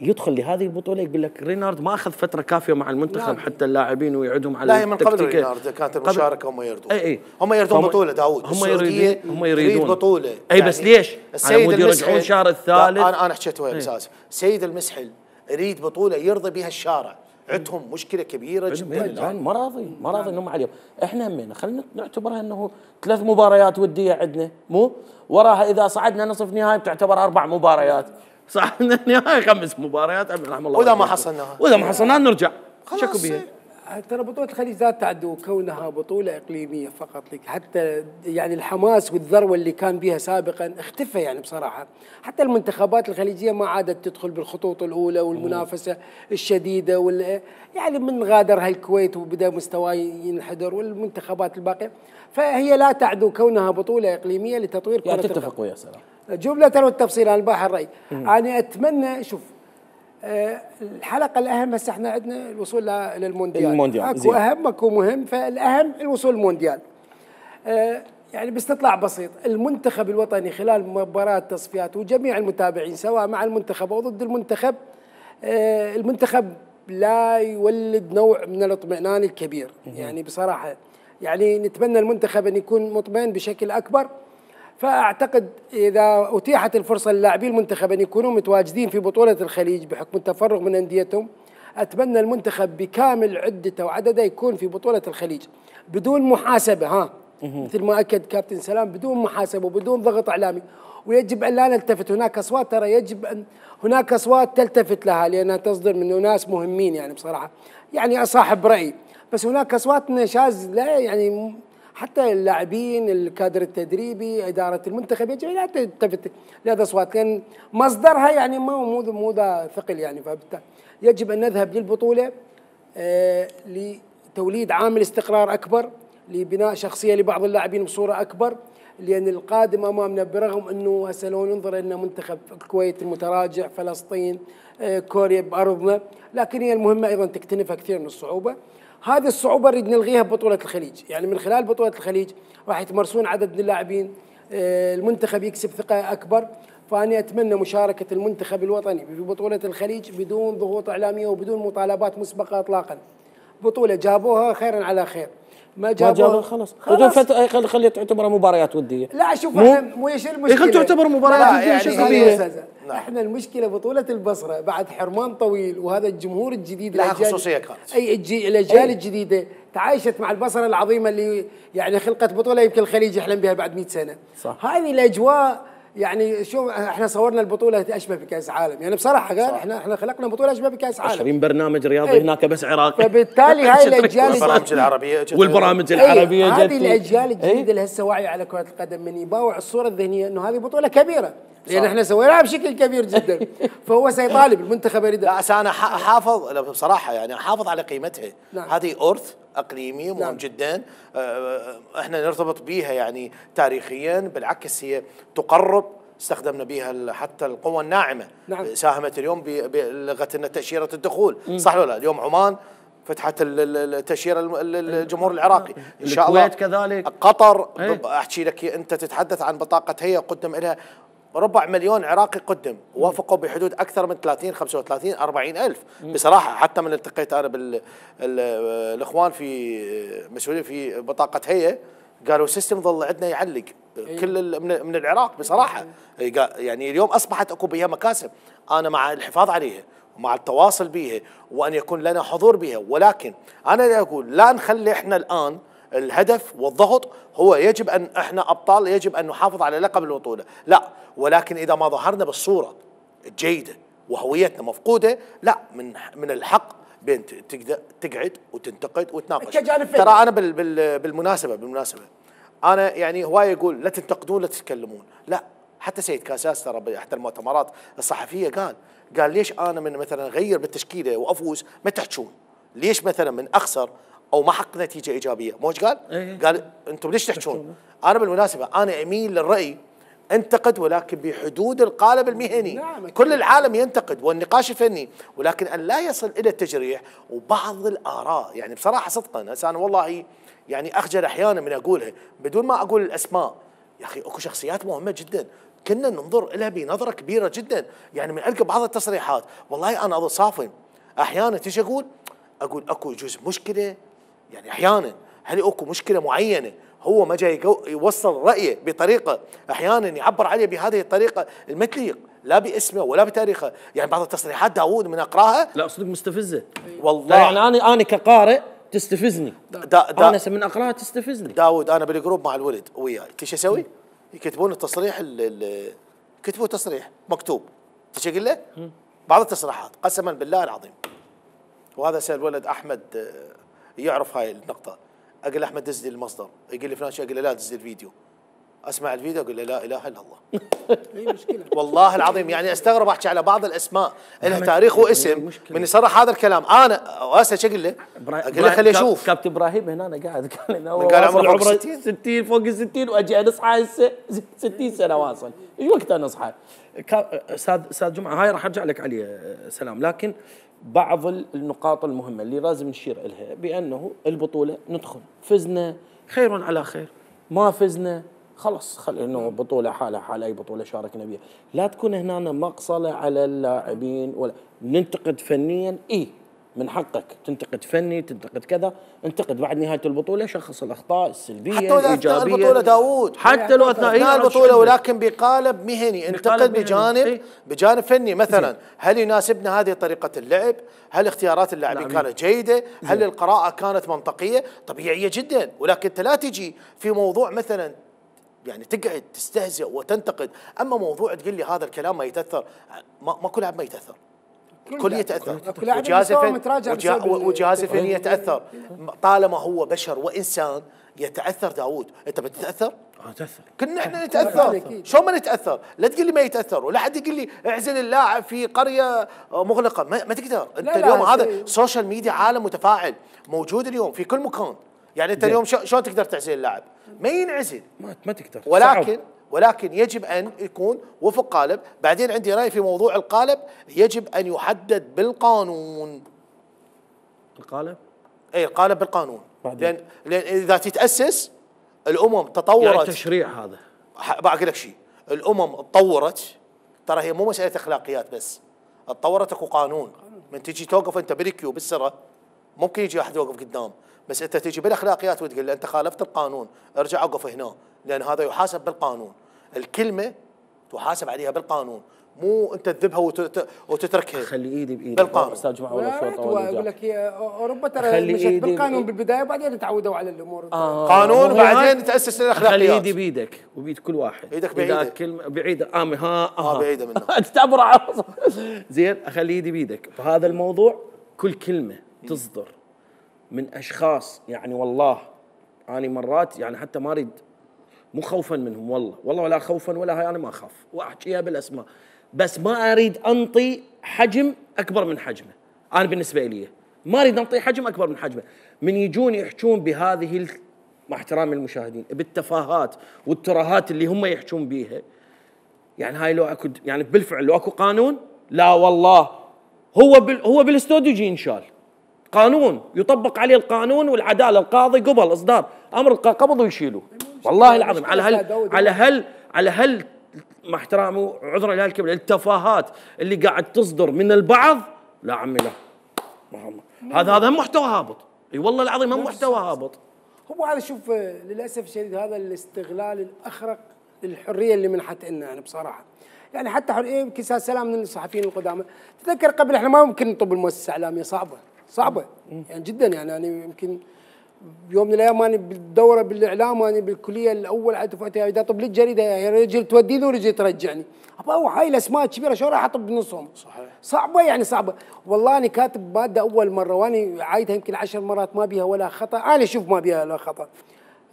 يدخل لهذه البطوله يقول لك رينارد ما اخذ فتره كافيه مع المنتخب. نعم. حتى اللاعبين ويعدهم على لا هي من قبل رينارد كانت المشاركه هم يردون. اي اي هم يردون بطوله داوود. هم يريدون هم يريدون بطوله. اي بس يعني ليش؟ السيد يرجعون الشهر الثالث. انا انا حكيت ويا الاستاذ سيد المسحل يريد بطوله يرضي بها الشارع. عندهم مشكله كبيره جدا. ما راضي ما راضي انهم عليهم. احنا همينا خلينا نعتبرها انه ثلاث مباريات وديه عندنا، مو وراها اذا صعدنا نصف نهائي بتعتبر اربع مباريات، صعدنا نهائي خمس مباريات رحم الله. واذا ما حصلناها واذا ما حصلناها نرجع شكو بيها. ترى بطولة الخليج ذات تعد كونها بطولة إقليمية فقط لك، حتى يعني الحماس والذروة اللي كان بها سابقا اختفى يعني بصراحة. حتى المنتخبات الخليجية ما عادت تدخل بالخطوط الأولى والمنافسة الشديدة وال يعني من غادرها الكويت وبدأ مستواه ينحدر والمنتخبات الباقية، فهي لا تعد كونها بطولة إقليمية لتطوير كرة القدم. تتفق ويا سلام. جملة والتفصيل عن باحر الرأي. أنا أتمنى شوف أه الحلقة الأهم هسه احنا عندنا الوصول للمونديال. المونديال اكو أهم اكو مهم، فالأهم الوصول للمونديال. أه يعني باستطلاع بسيط، المنتخب الوطني خلال مباراة التصفيات وجميع المتابعين سواء مع المنتخب أو ضد المنتخب، أه المنتخب لا يولد نوع من الاطمئنان الكبير. يعني بصراحة يعني نتمنى المنتخب أن يكون مطمئن بشكل أكبر. فأعتقد إذا أتيحت الفرصة للاعبي المنتخب أن يكونوا متواجدين في بطولة الخليج بحكم التفرغ من أنديتهم، أتمنى المنتخب بكامل عدته وعدده يكون في بطولة الخليج بدون محاسبة، ها مثل ما أكد كابتن سلام، بدون محاسبة وبدون ضغط إعلامي. ويجب أن لا نلتفت، هناك أصوات ترى يجب أن هناك أصوات تلتفت لها لأنها تصدر من ناس مهمين يعني بصراحة، يعني أصاحب رأي، بس هناك أصوات نشاز لا يعني حتى اللاعبين الكادر التدريبي إدارة المنتخب يجب لا تلتفت لهذا الأصوات لأن مصدرها يعني مو مو مو ذا ثقل يعني. فبالتالي يجب أن نذهب للبطولة آه لتوليد عامل استقرار أكبر، لبناء شخصية لبعض اللاعبين بصورة أكبر، لأن القادم أمامنا برغم أنه هسه لو ننظر أن منتخب الكويت المتراجع، فلسطين، آه كوريا بأرضنا، لكن هي المهمة أيضا تكتنفها كثير من الصعوبة. هذه الصعوبة نريد نلغيها ببطولة الخليج، يعني من خلال بطولة الخليج راح يتمرسون عدد من اللاعبين، المنتخب يكسب ثقة أكبر. فأنا أتمنى مشاركة المنتخب الوطني في بطولة الخليج بدون ضغوط إعلامية وبدون مطالبات مسبقة إطلاقا. بطولة جابوها خيرا على خير، ما جابوها خلاص خلاص خلي تعتبر مباريات ودية. لا شوف احنا مو ايش المشكلة؟ خلي تعتبر مباريات ودية يعني احنا المشكلة بطولة البصرة بعد حرمان طويل، وهذا الجمهور الجديد لها خصوصية كانت. اي الاجيال الجديدة تعايشت مع البصرة العظيمة اللي يعني خلقت بطولة يمكن الخليج يحلم بها بعد مئة سنة. صح. هذه الأجواء يعني شو احنا صورنا البطولة اشبه بكأس عالم، يعني بصراحة قال احنا احنا خلقنا بطولة اشبه بكأس عالم. عشرين برنامج رياضي ايه. هناك بس عراقي. فبالتالي هاي الاجيال والبرامج العربية والبرامج العربية ايه. هذه الاجيال الجديدة ايه. اللي هسه واعية على كرة القدم من يباوع الصورة الذهنية انه هذه بطولة كبيرة، لان احنا سويناها بشكل كبير جدا. فهو سيطالب المنتخب يريد. لا انا حافظ بصراحة يعني احافظ على قيمتها. نعم. هذه أرث اقليمي مهم نعم. جدا احنا نرتبط بيها يعني تاريخيا، بالعكس هي تقرب، استخدمنا بها حتى القوى الناعمه. نعم. ساهمت اليوم بلغت لنا تاشيره الدخول. مم. صح ولا لا؟ اليوم عمان فتحت التاشيره الجمهور العراقي ان شاء الله. الكويت كذلك، قطر ايه؟ احكي لك انت تتحدث عن بطاقه هيئه قدم لها ربع مليون عراقي قدم، وافقوا بحدود اكثر من ثلاثين خمسة وثلاثين أربعين ألف. مم. بصراحه حتى من التقيت انا بالاخوان في مسؤولين في بطاقه هيئه قالوا السيستم ظل عندنا يعلق كل من العراق بصراحه. يعني اليوم اصبحت اكو بها مكاسب، انا مع الحفاظ عليها ومع التواصل بها وان يكون لنا حضور بها، ولكن انا اقول لا نخلي احنا الان الهدف والضغط هو يجب ان احنا ابطال، يجب ان نحافظ على لقب البطوله، لا، ولكن اذا ما ظهرنا بالصوره الجيده وهويتنا مفقوده، لا، من من الحق بين تقدر تقعد وتنتقد وتناقش. ترى انا بال بال بالمناسبه بالمناسبه انا يعني هواي يقول لا تنتقدون لا تتكلمون، لا، حتى سيد كاساس ترى باحدى المؤتمرات الصحفيه قال قال ليش انا من مثلا اغير بالتشكيله وافوز ما تحجون؟ ليش مثلا من اخسر او ما حقق نتيجه ايجابيه؟ مو ايش قال؟ إيه. قال انتم ليش تحجون؟ انا بالمناسبه انا اميل للراي انتقد ولكن بحدود القالب المهني. نعم. كل العالم ينتقد والنقاش الفني، ولكن ان لا يصل الى التجريح وبعض الاراء. يعني بصراحه صدقا هسه انا والله يعني اخجل احيانا من اقولها بدون ما اقول الاسماء. يا اخي اكو شخصيات مهمه جدا كنا ننظر لها بنظره كبيره جدا. يعني من القى بعض التصريحات والله انا اظل صافن احيانا تيجي اقول اقول اكو يجوز مشكله. يعني احيانا هل اكو مشكله معينه هو ما جاي يوصل رايه بطريقه احيانا يعبر عليه بهذه الطريقه المتليق لا باسمه ولا بتاريخه. يعني بعض التصريحات داوود من اقراها لا صدق مستفزه والله. يعني انا انا كقارئ تستفزني. دا دا انا من اقراها تستفزني. داوود انا بالجروب مع الولد وياي ايش اسوي؟ يكتبون التصريح ال كتبوا تصريح مكتوب ايش اقول له؟ بعض التصريحات قسما بالله العظيم. وهذا سال الولد احمد يعرف هاي النقطه. اقول له احمد دز لي المصدر، يقول لي فلان شيء، اقول له لا دز لي الفيديو. اسمع الفيديو اقول له لا اله الا الله. اي مشكله والله والله العظيم. يعني استغرب احكي على بعض الاسماء لها تاريخ واسم من يصرح هذا الكلام. انا واسا ايش اقول له؟ اقول له خليه يشوف. كابتن ابراهيم هنا أنا قاعد قال لنا هو قال عمره عمره فوق الستين. ستين فوق ال ستين واجي اصحى هسه ستين سنه واصل. ايش وقت انا اصحى؟ استاذ استاذ جمعه هاي راح ارجع لك عليه سلام. لكن بعض النقاط المهمه اللي لازم نشير لها بانه البطوله ندخل فزنا خير على خير، ما فزنا خلص خلي انه بطوله حالها حال اي بطوله شاركنا بها. لا تكون هنا مقصله على اللاعبين ولا ننتقد فنيا. اي من حقك تنتقد فني تنتقد كذا، انتقد بعد نهايه البطوله شخص الاخطاء السلبيه حتى لو اثناء البطوله داوود حتى لو اثناء البطوله ولكن بقالب مهني انتقد بجانب بجانب فني. مثلا هل يناسبنا هذه طريقه اللعب؟ هل اختيارات اللاعبين كانت جيده؟ هل القراءه كانت منطقيه؟ طبيعيه جدا. ولكن انت لا تجي في موضوع مثلا يعني تقعد تستهزئ وتنتقد. اما موضوع تقول لي هذا الكلام ما يتاثر، ما, ما كل لاعب ما يتاثر، كل يتاثر. وجهاز الفني وجهاز الفني يتاثر طالما هو بشر وانسان يتاثر. داوود انت بتتاثر؟ اه تاثر. كنا احنا نتاثر. شلون ما نتاثر؟ لا تقول لي ما يتاثر ولا حد يقول لي اعزل اللاعب في قريه مغلقه. ما, ما تقدر. انت لا اليوم لا هذا سوشيال ميديا عالم متفاعل موجود اليوم في كل مكان. يعني انت اليوم شلون تقدر تعزل اللاعب؟ ما ينعزل. ما, ما تقدر. ولكن صعب. ولكن يجب ان يكون وفق قالب. بعدين عندي راي في موضوع القالب، يجب ان يحدد بالقانون. القالب؟ اي القالب بالقانون. لان لان اذا تتاسس الامم تطورت. يعني التشريع هذا بقول لك شيء، الامم تطورت ترى هي مو مساله اخلاقيات بس، تطورت اكو قانون. من تجي توقف انت بالكيو بالسره ممكن يجي واحد يوقف قدام، بس انت تجي بالاخلاقيات وتقول له انت خالفت القانون ارجع اوقف هنا، لان هذا يحاسب بالقانون. الكلمه تحاسب عليها بالقانون، مو انت تذبها وتتركها. خلي ايدي بايدي بالقانون. استاذ جماعه ولا شوط اقول لك هي اوروبا ترى مشت بالقانون بالبدايه وبعدين تعودوا على الامور. آه قانون بعدين تاسس الاخلاقيات. خلي ايدي بايدك وبيد كل واحد. ايدك بعيده. كلمه بعيده امي ها اه بعيده منه. انت تبرع زين. اخلي ايدي بايدك بهذا الموضوع. كل كلمه تصدر من اشخاص يعني والله انا مرات يعني حتى ما اريد، مو خوفا منهم والله والله ولا خوفا ولا هاي، انا ما اخاف واحكيها بالاسماء، بس ما اريد انطي حجم اكبر من حجمه. انا بالنسبه لي ما اريد انطي حجم اكبر من حجمه. من يجون يحجون بهذه مع احترام المشاهدين بالتفاهات والترهات اللي هم يحجون بيها، يعني هاي لو اكو يعني بالفعل لو اكو قانون، لا والله هو بال هو بالاستوديو يجي ينشال قانون يطبق عليه القانون والعداله. القاضي قبل اصدار امر قبض ويشيلوه والله العظيم على هل على هل على هل مع احترامي عذرا لهالكلمه التفاهات اللي قاعد تصدر من البعض. لا عمي لا هذا هذا محتوى هابط. اي والله العظيم هم محتوى هابط. هو هذا شوف للاسف الشديد هذا الاستغلال الاخرق للحريه اللي منحت لنا يعني بصراحه. يعني حتى حريه يمكن سلام من الصحفيين القدامى. تذكر قبل احنا ما ممكن نطب المؤسسه الاعلاميه صعبه صعبه يعني جدا. يعني انا يمكن بيوم من الايام انا بالدوره بالاعلام انا بالكليه الاول على دفعتي اذا اطب لي الجريده يا رجل توديني ورجل ترجعني. ابا هاي الاسماء الكبيره شو راح اطب بنصهم؟ صحيح صعبه يعني صعبه. والله انا كاتب ماده اول مره وانا عايدها يمكن عشر مرات ما بيها ولا خطا. انا اشوف ما بيها ولا خطا.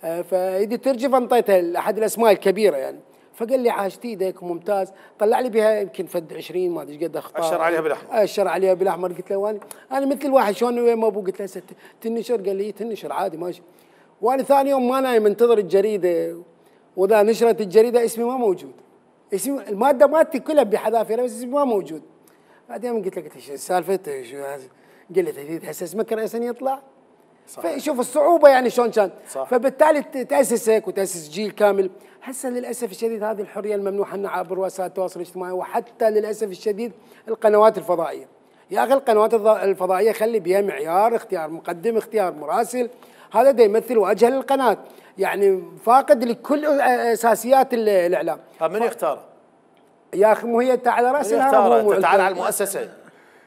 آه فاذا ترجف انطيتها لاحد الاسماء الكبيره يعني. فقال لي عاشت ايدك ممتاز، طلع لي بها يمكن فد عشرين ما ادري ايش قد اخطاء، اشر عليها بالاحمر، اشر عليها بالاحمر. قلت له وانا انا مثل الواحد شلون وين ما ابو، قلت له هسه تنشر، قال لي تنشر عادي ماشي. وانا ثاني يوم ما نايم منتظر الجريده، واذا نشرت الجريده اسمي ما موجود، اسمي الماده مالتي كلها بحذافيرها بس اسمي ما موجود. بعدين قلت له قلت ايش السالفه شو هذا؟ قال لي تريد هسه اسمك رئيسا يطلع؟ فشوف الصعوبه يعني شلون كان. فبالتالي تاسس هيك وتاسس جيل كامل. هسه للاسف الشديد هذه الحريه الممنوحه لنا عبر وسائل التواصل الاجتماعي، وحتى للاسف الشديد القنوات الفضائيه. يا اخي القنوات الفضائيه خلي بها معيار، اختيار مقدم، اختيار مراسل، هذا دا يمثل وجه للقناه، يعني فاقد لكل اساسيات الاعلام. من يختار؟ يا اخي مو هي انت على راس الهرم، انت تعال على المؤسسه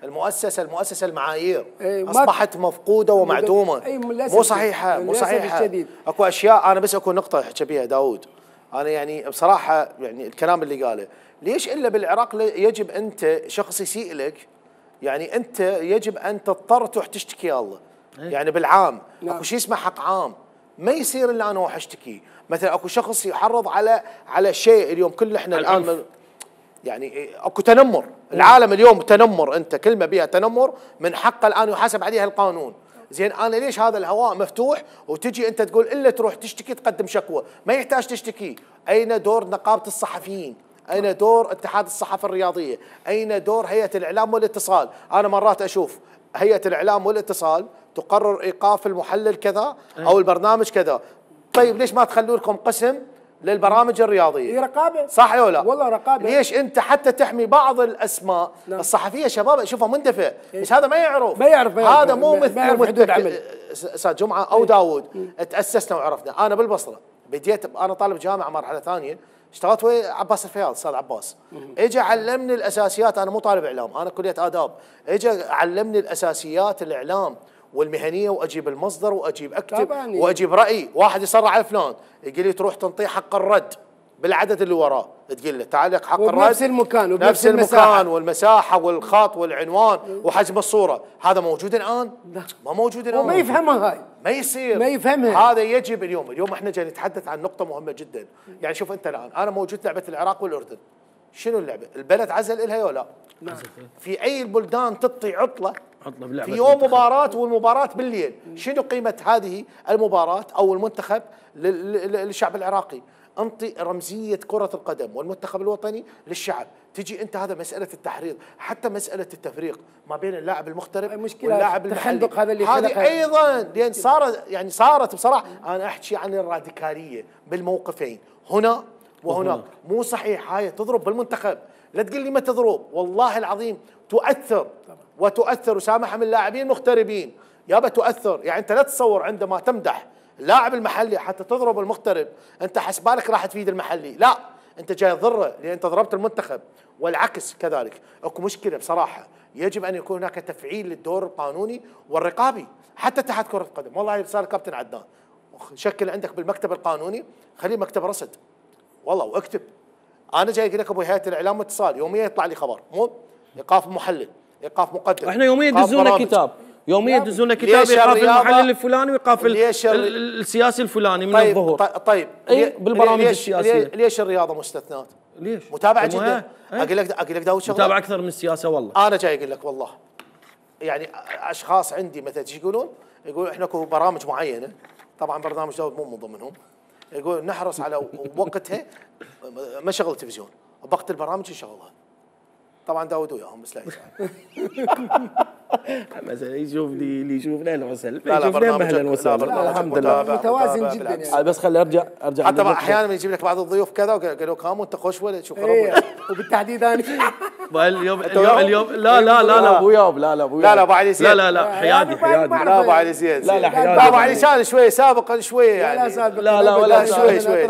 المؤسسه المؤسسه المعايير ايه اصبحت مفقوده ومعدومه، ايه مو صحيحه مو صحيحه الشديد. اكو اشياء انا بس اكو نقطه احكي بها داود، انا يعني بصراحه يعني الكلام اللي قاله، ليش الا بالعراق يجب انت شخص يسيء لك، يعني انت يجب ان تضطر تروح تشتكي الله، ايه يعني بالعام نعم. اكو شيء اسمه حق عام، ما يصير الا انا اروح اشتكي، مثلا اكو شخص يحرض على على شيء اليوم كل احنا الان يعني اكو تنمر، العالم اليوم تنمر، انت كلمه بها تنمر من حقه الان يحاسب عليها القانون. زين انا ليش هذا الهواء مفتوح وتجي انت تقول الا تروح تشتكي تقدم شكوى؟ ما يحتاج تشتكي. اين دور نقابه الصحفيين؟ اين دور اتحاد الصحافه الرياضيه؟ اين دور هيئه الاعلام والاتصال؟ انا مرات اشوف هيئه الاعلام والاتصال تقرر ايقاف المحلل كذا او البرنامج كذا، طيب ليش ما تخلوا لكم قسم للبرامج الرياضيه؟ هي رقابه صح ولا لا؟ والله رقابه. ليش انت حتى تحمي بعض الاسماء نعم. الصحفيه شباب اشوفها مندفع، بس هذا ما يعرف ما يعرف هذا مو مثل حدود عمل استاذ جمعه او داوود. تاسسنا وعرفنا. انا بالبصره بديت انا طالب جامعه مرحله ثانيه، اشتغلت ويا عباس الفياض استاذ عباس، اجى علمني الاساسيات، انا مو طالب اعلام انا كليه اداب، اجى علمني الاساسيات الاعلام والمهنيه، واجيب المصدر واجيب اكتب واجيب راي، واحد يصرع على فلان يقول لي تروح تنطيه حق الرد بالعدد اللي وراه، تقول له تعال لك حق الرد نفس المكان وبنفس نفس المكان والمساحه والخط والعنوان وحجم الصوره، هذا موجود الان؟ لا ما موجود الان، وما يفهمها هاي، ما يصير ما يفهمها. هذا يجب اليوم، اليوم احنا جاي نتحدث عن نقطه مهمه جدا، يعني شوف انت الان انا موجود لعبه العراق والاردن، شنو اللعبه؟ البلد عزل الها ولا لا؟ في اي البلدان تعطي عطله عطله في يوم مباراه والمباراه بالليل، شنو قيمه هذه المباراه او المنتخب للشعب العراقي؟ انطي رمزيه كره القدم والمنتخب الوطني للشعب، تجي انت هذا مساله التحريض، حتى مساله التفريق ما بين اللاعب المغترب واللاعب المحلي، هذا اللي هذه ايضا لان صارت يعني صارت بصراحه انا احكي عن الراديكاليه بالموقفين هنا وهناك، مو صحيح هاي تضرب بالمنتخب، لا تقول لي ما تضرب، والله العظيم تؤثر وتؤثر، وسامحها من اللاعبين المغتربين يابا تؤثر، يعني انت لا تصور عندما تمدح اللاعب المحلي حتى تضرب المغترب انت حسبالك راح تفيد المحلي، لا انت جاي تضره لان انت ضربت المنتخب، والعكس كذلك. اكو مشكله بصراحه، يجب ان يكون هناك تفعيل للدور القانوني والرقابي حتى اتحاد كره القدم، والله صار كابتن عدنان شكل عندك بالمكتب القانوني خليه مكتب رصد والله واكتب، انا جاي اقول لك ابو هيئه الاعلام والاتصال يوميا يطلع لي خبر، مو ايقاف محلل، ايقاف مقدم، احنا يوميا يدزونا كتاب، يوميا يدزونا كتاب ايقاف المحلل الفلاني وايقاف السياسي الفلاني من طيب الظهور. طيب اي بالبرامج السياسيه. ليش الرياضه مستثنات؟ ليش؟ متابعه جدا. اقول لك اقول لك داود شغله متابعه اكثر من السياسه والله. انا جاي اقول لك والله يعني اشخاص عندي مثلا ايش يقولون؟ يقولون احنا اكو برامج معينه، طبعا برنامج داود مو من ضمنهم، يقول نحرص على وقتها ما شغل التلفزيون، وقت البرامج نشغلها. طبعا داود وياهم بس لا يزعل. مثلا يشوف لي اللي يشوفنا اهلا وسهلا، لا لا يشوفنا اهلا وسهلا، الحمد لله متوازن جدا يعني. بس خلي ارجع ارجع حتى احيانا يجيب لك بعض الضيوف كذا وقالوا كام وانت خوش ولا شو ايه وبالتحديد انا اليوم اليوم اليوم لا لا لا لا ابو ياب لا لا ابو لا لا ابو علي زياد لا لا لا حيادي حيادي لا ابو علي زياد لا لا حيادي لا ابو علي كان شوي سابقا شويه يعني لا لا ولا شوي شوي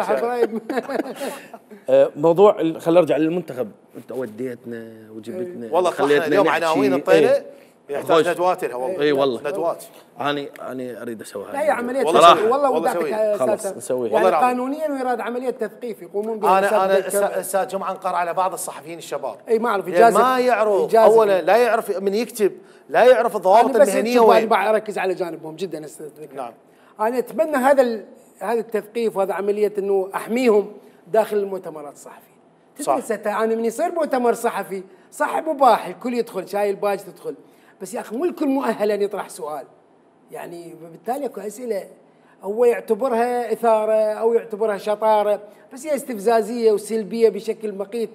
موضوع خلينا نرجع للمنتخب، انت وديتنا وجبتنا والله خليتنا اليوم عناوين الطيله يحتاج ندوات لها والله. اي والله ندوات. اني اني اريد اسويها. لا هي عمليه والله والله والله خلاص نسويها. يعني قانونيا ويراد عمليه تثقيف يقومون بها. انا انا استاذ جمعه انقر على بعض الصحفيين الشباب. اي ما اعرف اجازه ما يعرف اولا لا يعرف من يكتب، لا يعرف الضوابط المهنيه وين. انا اركز على جانبهم جدا استاذ. نعم. انا اتمنى هذا هذا التثقيف وهذا عمليه انه احميهم داخل المؤتمرات الصحفيه. صح. تدري انا من يصير مؤتمر صحفي صح مباح الكل يدخل شاي الباج تدخل، بس يا اخي مو الكل مؤهل ان يطرح سؤال. يعني بالتالي اكو اسئله هو يعتبرها اثاره او يعتبرها شطاره، بس هي استفزازيه وسلبيه بشكل مقيت.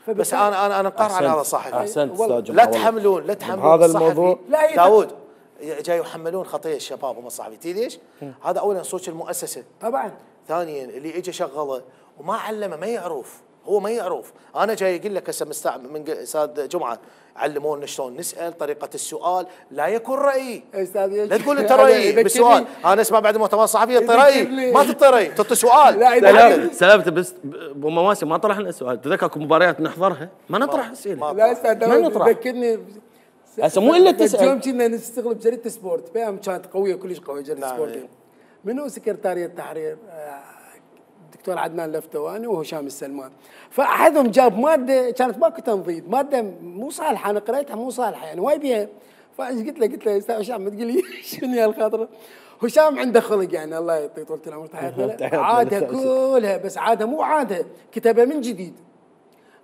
بس انا انا انا مقر على هذا صحفي. احسنت استاذ جمعة. لا تحملون لا تحملون هذا الصحفي. الموضوع لا داود جاي يحملون خطيه الشباب هم الصحفي، تدري ليش؟ هذا اولا صوت المؤسسه، طبعا ثانيا اللي اجى شغله وما علمه ما يعرف، هو ما يعرف. انا جاي اقول لك هسه مستع من استاذ جمعه علمونا شلون نسال، طريقه السؤال، لا يكون رايي. استاذ لا تقول انت رايي بالسؤال، انا اسمع بعد المؤتمر الصحفي تعطي رايي، ما تعطي رايي، تعطي سؤال. لا سلام سلامته. بس ابو مواسم ما طرحنا سؤال، تذكر اكو مباريات نحضرها ما نطرح اسئله. لا استاذ ما نطرح. ذكرني هسه مو الا تسال. يوم كنا نشتغل بجريده سبورت، بيام كانت قويه كلش قويه جريده نعم. سبورت. منو سكرتاريه التحرير؟ الدكتور عدنان لفتواني وهشام السلمان. فاحدهم جاب ماده كانت ماكو تنظيف، ماده مو صالحه، انا قريتها مو صالحه يعني واي بيها. فايش قلت له؟ قلت له يا استاذ هشام ما تقول لي شنو يا الخاطره؟ هشام عنده خلق يعني الله يعطيه طول العمر، تحياتنا. عادها كلها بس عادها مو عادها، كتبها من جديد.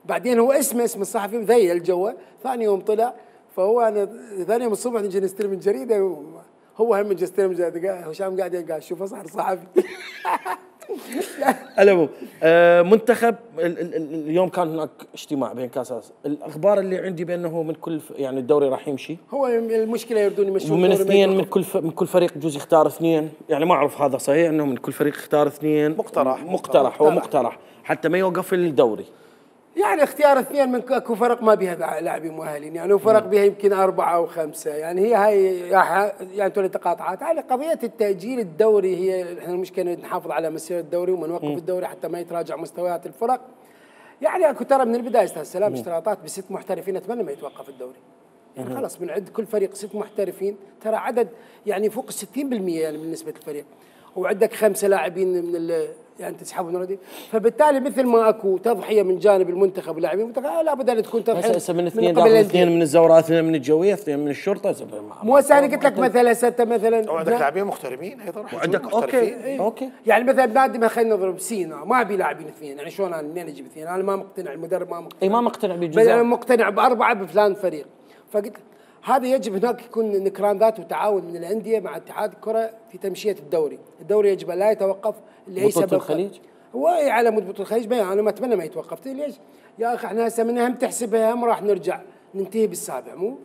بعدين هو اسمه اسم الصحفي مذيل جوه. ثاني يوم طلع، فهو انا ثاني يوم الصبح نجي نستلم الجريده، هو هم نجي نستلم الجريده، هشام قاعد قاعد شوفه صار صحفي. العموم آه منتخب ال ال ال اليوم كان هناك اجتماع بين كاس آسيا. الاخبار اللي عندي بانه من كل يعني الدوري راح يمشي، هو المشكله يردون يمشون من اثنين من كل من كل فريق يجوز يختار اثنين، يعني ما اعرف هذا صحيح انه من كل فريق يختار اثنين. مقترح مقترح هو مقترح حتى ما يوقف الدوري. يعني اختيار اثنين من اكو فرق ما بها لاعبين مؤهلين، يعني وفرق بها يمكن اربعه او خمسه، يعني هي هاي يعني تولي تقاطعات. على قضيه التاجيل الدوري هي احنا المشكله نحافظ على مسيره الدوري وما نوقف الدوري حتى ما يتراجع مستويات الفرق. يعني اكو ترى من البدايه استاذ سلام اشتراطات بست محترفين، اتمنى ما يتوقف الدوري. يعني خلاص بنعد كل فريق ست محترفين، ترى عدد يعني فوق ال ستين بالمئة يعني من نسبه الفريق، وعندك خمسه لاعبين من ال يعني تسحبهم نادي، فبالتالي مثل ما اكو تضحيه من جانب المنتخب واللاعبين المنتخب لابد ان تكون تضحيه هسه من اثنين داخل، اثنين من الزوراء، اثنين من الجويه، اثنين من الشرطه. مو هسه انا قلت لك مثلا سته مثلا، وعندك لاعبين محترفين ايضا، وعندك اوكي ايه. اوكي يعني مثلا نادي ما خلينا نضرب سينا ما ابي لاعبين اثنين، يعني شلون انا منين اجيب اثنين؟ انا ما مقتنع، المدرب ما مقتنع، اي ما مقتنع بل بجزء، انا مقتنع باربعه بفلان فريق. فقلت هذا يجب هناك يكون نكران ذات وتعاون من الانديه مع اتحاد الكره في تمشيه الدوري، الدوري يجب ان لا يتوقف لاي سبب. بطولة الخليج هو على مود بطولة الخليج انا ما اتمنى ما يتوقف. ليش؟ يا اخي احنا هسه من هم تحسبها هم راح نرجع ننتهي بالسابع، مو؟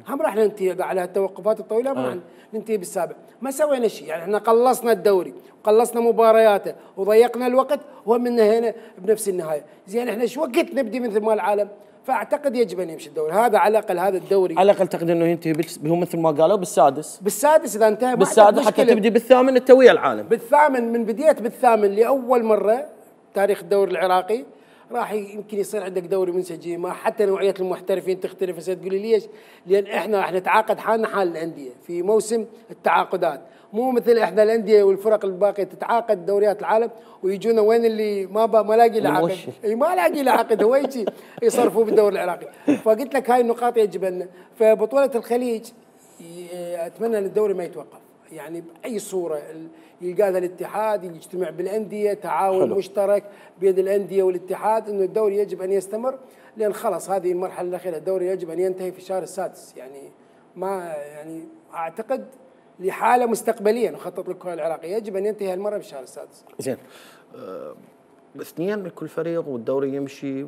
هم راح ننتهي على التوقفات الطويله، ما راح ننتهي بالسابع، ما سوينا شيء، يعني احنا قلصنا الدوري وقلصنا مبارياته وضيقنا الوقت ومن هنا بنفس النهايه، زين احنا ايش وقت نبدي مثل ما العالم؟ فاعتقد يجب ان يمشي الدوري، هذا على الاقل هذا الدوري على الاقل تعتقد انه ينتهي هو مثل ما قالوا بالسادس، بالسادس اذا انتهى بالسادس حتى تبدي بالثامن انت ويا العالم. بالثامن من بديت بالثامن لاول مره تاريخ الدوري العراقي راح يمكن يصير عندك دوري منسجم، ما حتى نوعيه المحترفين تختلف. هسه تقولي ليش؟ لان احنا راح نتعاقد حالنا حال الانديه في موسم التعاقدات، مو مثل احنا الانديه والفرق الباقيه تتعاقد دوريات العالم ويجونا وين اللي ما ما لاقي له عقد، اي ما لاقي له عقد هو يجي يصرفوا بالدوري العراقي. فقلت لك هاي النقاط يجب ان فبطوله الخليج اتمنى ان الدوري ما يتوقف، يعني باي صوره يلقى هذا الاتحاد يجتمع بالانديه، تعاون حلو. مشترك بين الانديه والاتحاد انه الدوري يجب ان يستمر، لان خلاص هذه المرحله الاخيره، الدوري يجب ان ينتهي في الشهر السادس، يعني ما يعني اعتقد لحاله مستقبليا نخطط للكره العراقيه يجب ان ينتهي هالمره في الشهر السادس. زين أه اثنين من كل فريق والدوري يمشي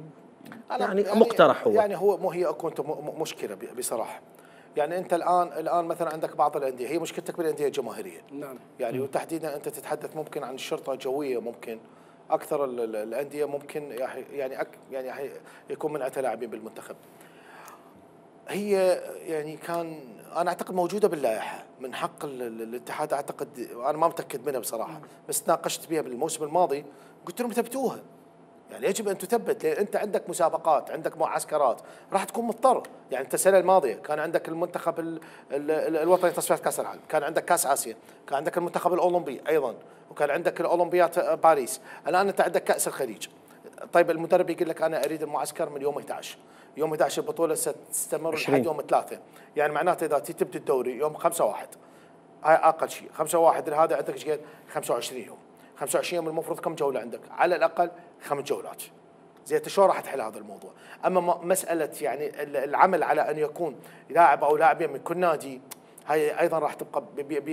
يعني, يعني مقترح هو يعني هو مو هي اكو انت مشكله بصراحه، يعني انت الان الان مثلا عندك بعض الانديه هي مشكلتك بالانديه الجماهيريه، نعم يعني وتحديدا انت تتحدث ممكن عن الشرطه الجويه، ممكن اكثر الانديه ممكن يعني يعني يكون منعتها لاعبين بالمنتخب. هي يعني كان انا اعتقد موجوده باللائحه من حق الاتحاد، اعتقد انا ما متاكد منها بصراحه، بس ناقشت بها بالموسم الماضي قلت لهم ثبتوها، يعني يجب ان تثبت، لان انت عندك مسابقات، عندك معسكرات، راح تكون مضطر، يعني انت السنه الماضيه كان عندك المنتخب ال ال ال الوطني تصفيات كاس العالم، كان عندك كاس اسيا، كان عندك المنتخب الاولمبي ايضا، وكان عندك الاولمبيات باريس، الان انت عندك كاس الخليج. طيب المدرب يقول لك انا اريد المعسكر من يوم احد عشر، يوم احد عشر البطوله ستستمر لحد يوم ثلاثة، يعني معناته اذا تبدا الدوري يوم خمسة واحد، هاي اقل شيء، خمسة واحد هذا عندك ايش قد؟ خمسة وعشرين يوم، خمسة وعشرين يوم المفروض كم جوله عندك؟ على الاقل خمس جولات. زين انت شلون راح تحل هذا الموضوع؟ اما مساله يعني العمل على ان يكون لاعب او لاعبين من كل نادي، هاي ايضا راح تبقى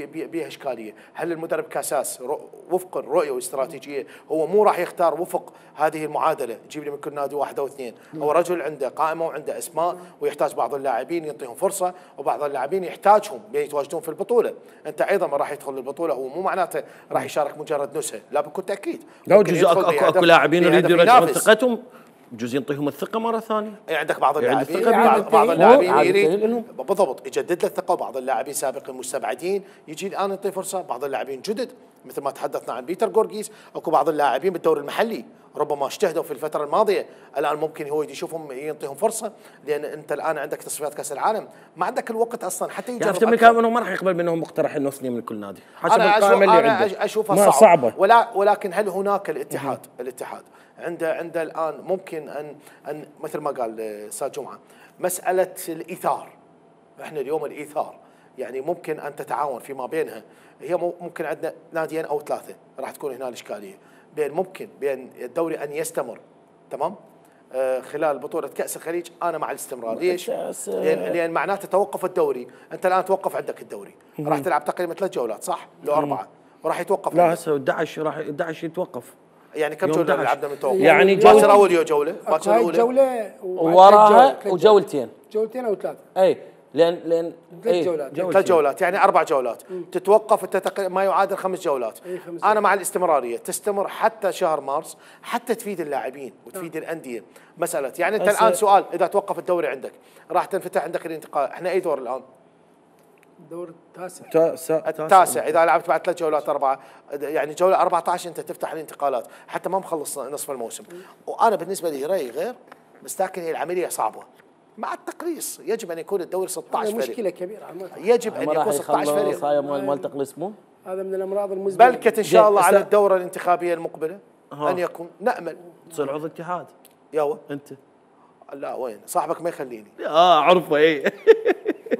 بها اشكاليه. هل المدرب كاساس وفق الرؤيه والاستراتيجيه هو مو راح يختار وفق هذه المعادله، يجيب لي من كل نادي واحد او اثنين، او رجل عنده قائمه وعنده اسماء ويحتاج بعض اللاعبين يعطيهم فرصه، وبعض اللاعبين يحتاجهم يتواجدون في البطوله. انت ايضا ما راح يدخل البطوله هو مو معناته راح يشارك مجرد نزهه، لا بكل تاكيد. لو جزء اكو اكو لاعبين يريدوا يرجعون ثقتهم، جزء ينطيهم الثقه مره ثانيه. يعني عندك بعض يعني اللاعبين بعض, بعض اللاعبين يريد بالضبط يجدد له الثقه، وبعض اللاعبين سابقين مستبعدين يجي الان يعطي فرصه، بعض اللاعبين جدد مثل ما تحدثنا عن بيتر جورجيس، اكو بعض اللاعبين بالدوري المحلي ربما اجتهدوا في الفتره الماضيه، الان ممكن هو يشوفهم يعطيهم فرصه، لان انت الان عندك تصفيات كاس العالم، ما عندك الوقت اصلا حتى يجرب. افتهم كانوا ما راح يقبل منهم مقترح انه اثنين من كل نادي حسب أنا القائمه اللي أنا عنده. اشوفها ما صعبة, صعبه ولا ولكن هل هناك الاتحاد الاتحاد عنده عنده الان ممكن ان ان مثل ما قال استاذ جمعه مساله الايثار. احنا اليوم الايثار يعني ممكن ان تتعاون فيما بينها، هي ممكن عندنا ناديين او ثلاثه راح تكون هنا الاشكاليه، بين ممكن بين الدوري ان يستمر تمام آه خلال بطوله كاس الخليج. انا مع الاستمرار، ليش؟ لان, لأن معناته توقف الدوري، انت الان توقف عندك الدوري، راح تلعب تقريبا ثلاث جولات صح؟ لو اربعه وراح يتوقف. لا هسه احد عشر راح احد عشر يتوقف. يعني كم جوله لعبنا من توقف؟ يعني باكر اول جوله، باكر اول جوله وراها وجولتين جولتين او ثلاث. اي لان لان ثلاث جولات ثلاث جولات يعني اربع جولات مم. تتوقف انت تقريبا ما يعادل خمس جولات. انا مع الاستمراريه تستمر حتى شهر مارس، حتى تفيد اللاعبين وتفيد آه. الانديه. مساله يعني انت الان سؤال، اذا توقف الدوري عندك راح تنفتح عندك الانتقال. احنا اي دور الان؟ الدور التاسع التاسع. اذا لعبت بعد ثلاث جولات اربعه يعني جوله أربعة عشر انت تفتح الانتقالات حتى ما مخلص نصف الموسم. وانا بالنسبه لي رايي غير، بس لكن هي العمليه صعبه مع التقليص. يجب ان يكون الدوري ستة عشر فريق. مشكله كبيره عمال. يجب ان يكون ستة عشر فريق. هاي مال تقليص مو هذا من الامراض المزمنه. بلكت ان شاء الله على الدوره الانتخابيه المقبله ها. ان يكون نامل تصير عضو اتحاد. ياو انت لا وين صاحبك ما يخليني. اه اعرفه اي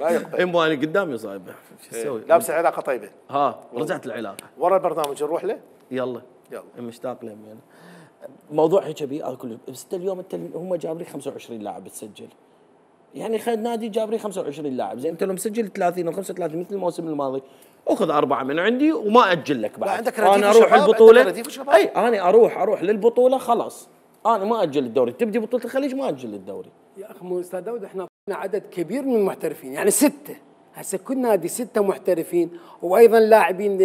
لا يقبل. اي مو انا قدامي صايبه شو اسوي؟ لابس العلاقه طيبه. ها رجعت العلاقه ورا البرنامج نروح له. يلا يلا مشتاق له يعني. موضوع هيك ابي اكل بس اليوم انت هم جاب لي خمسة وعشرين لاعب تسجل، يعني خد نادي جاب لي خمسة وعشرين لاعب، زين انت لو مسجل ثلاثين او خمسة وثلاثين مثل الموسم الماضي اخذ اربعه من عندي وما اجل لك بعد. عندك انا اروح البطوله. اي انا اروح اروح للبطوله خلاص، انا ما اجل الدوري. تبدي بطوله الخليج ما اجل الدوري. يا اخي مو استاذ داود احنا عدد كبير من المحترفين يعني سته، هسه كل نادي سته محترفين، وايضا لاعبين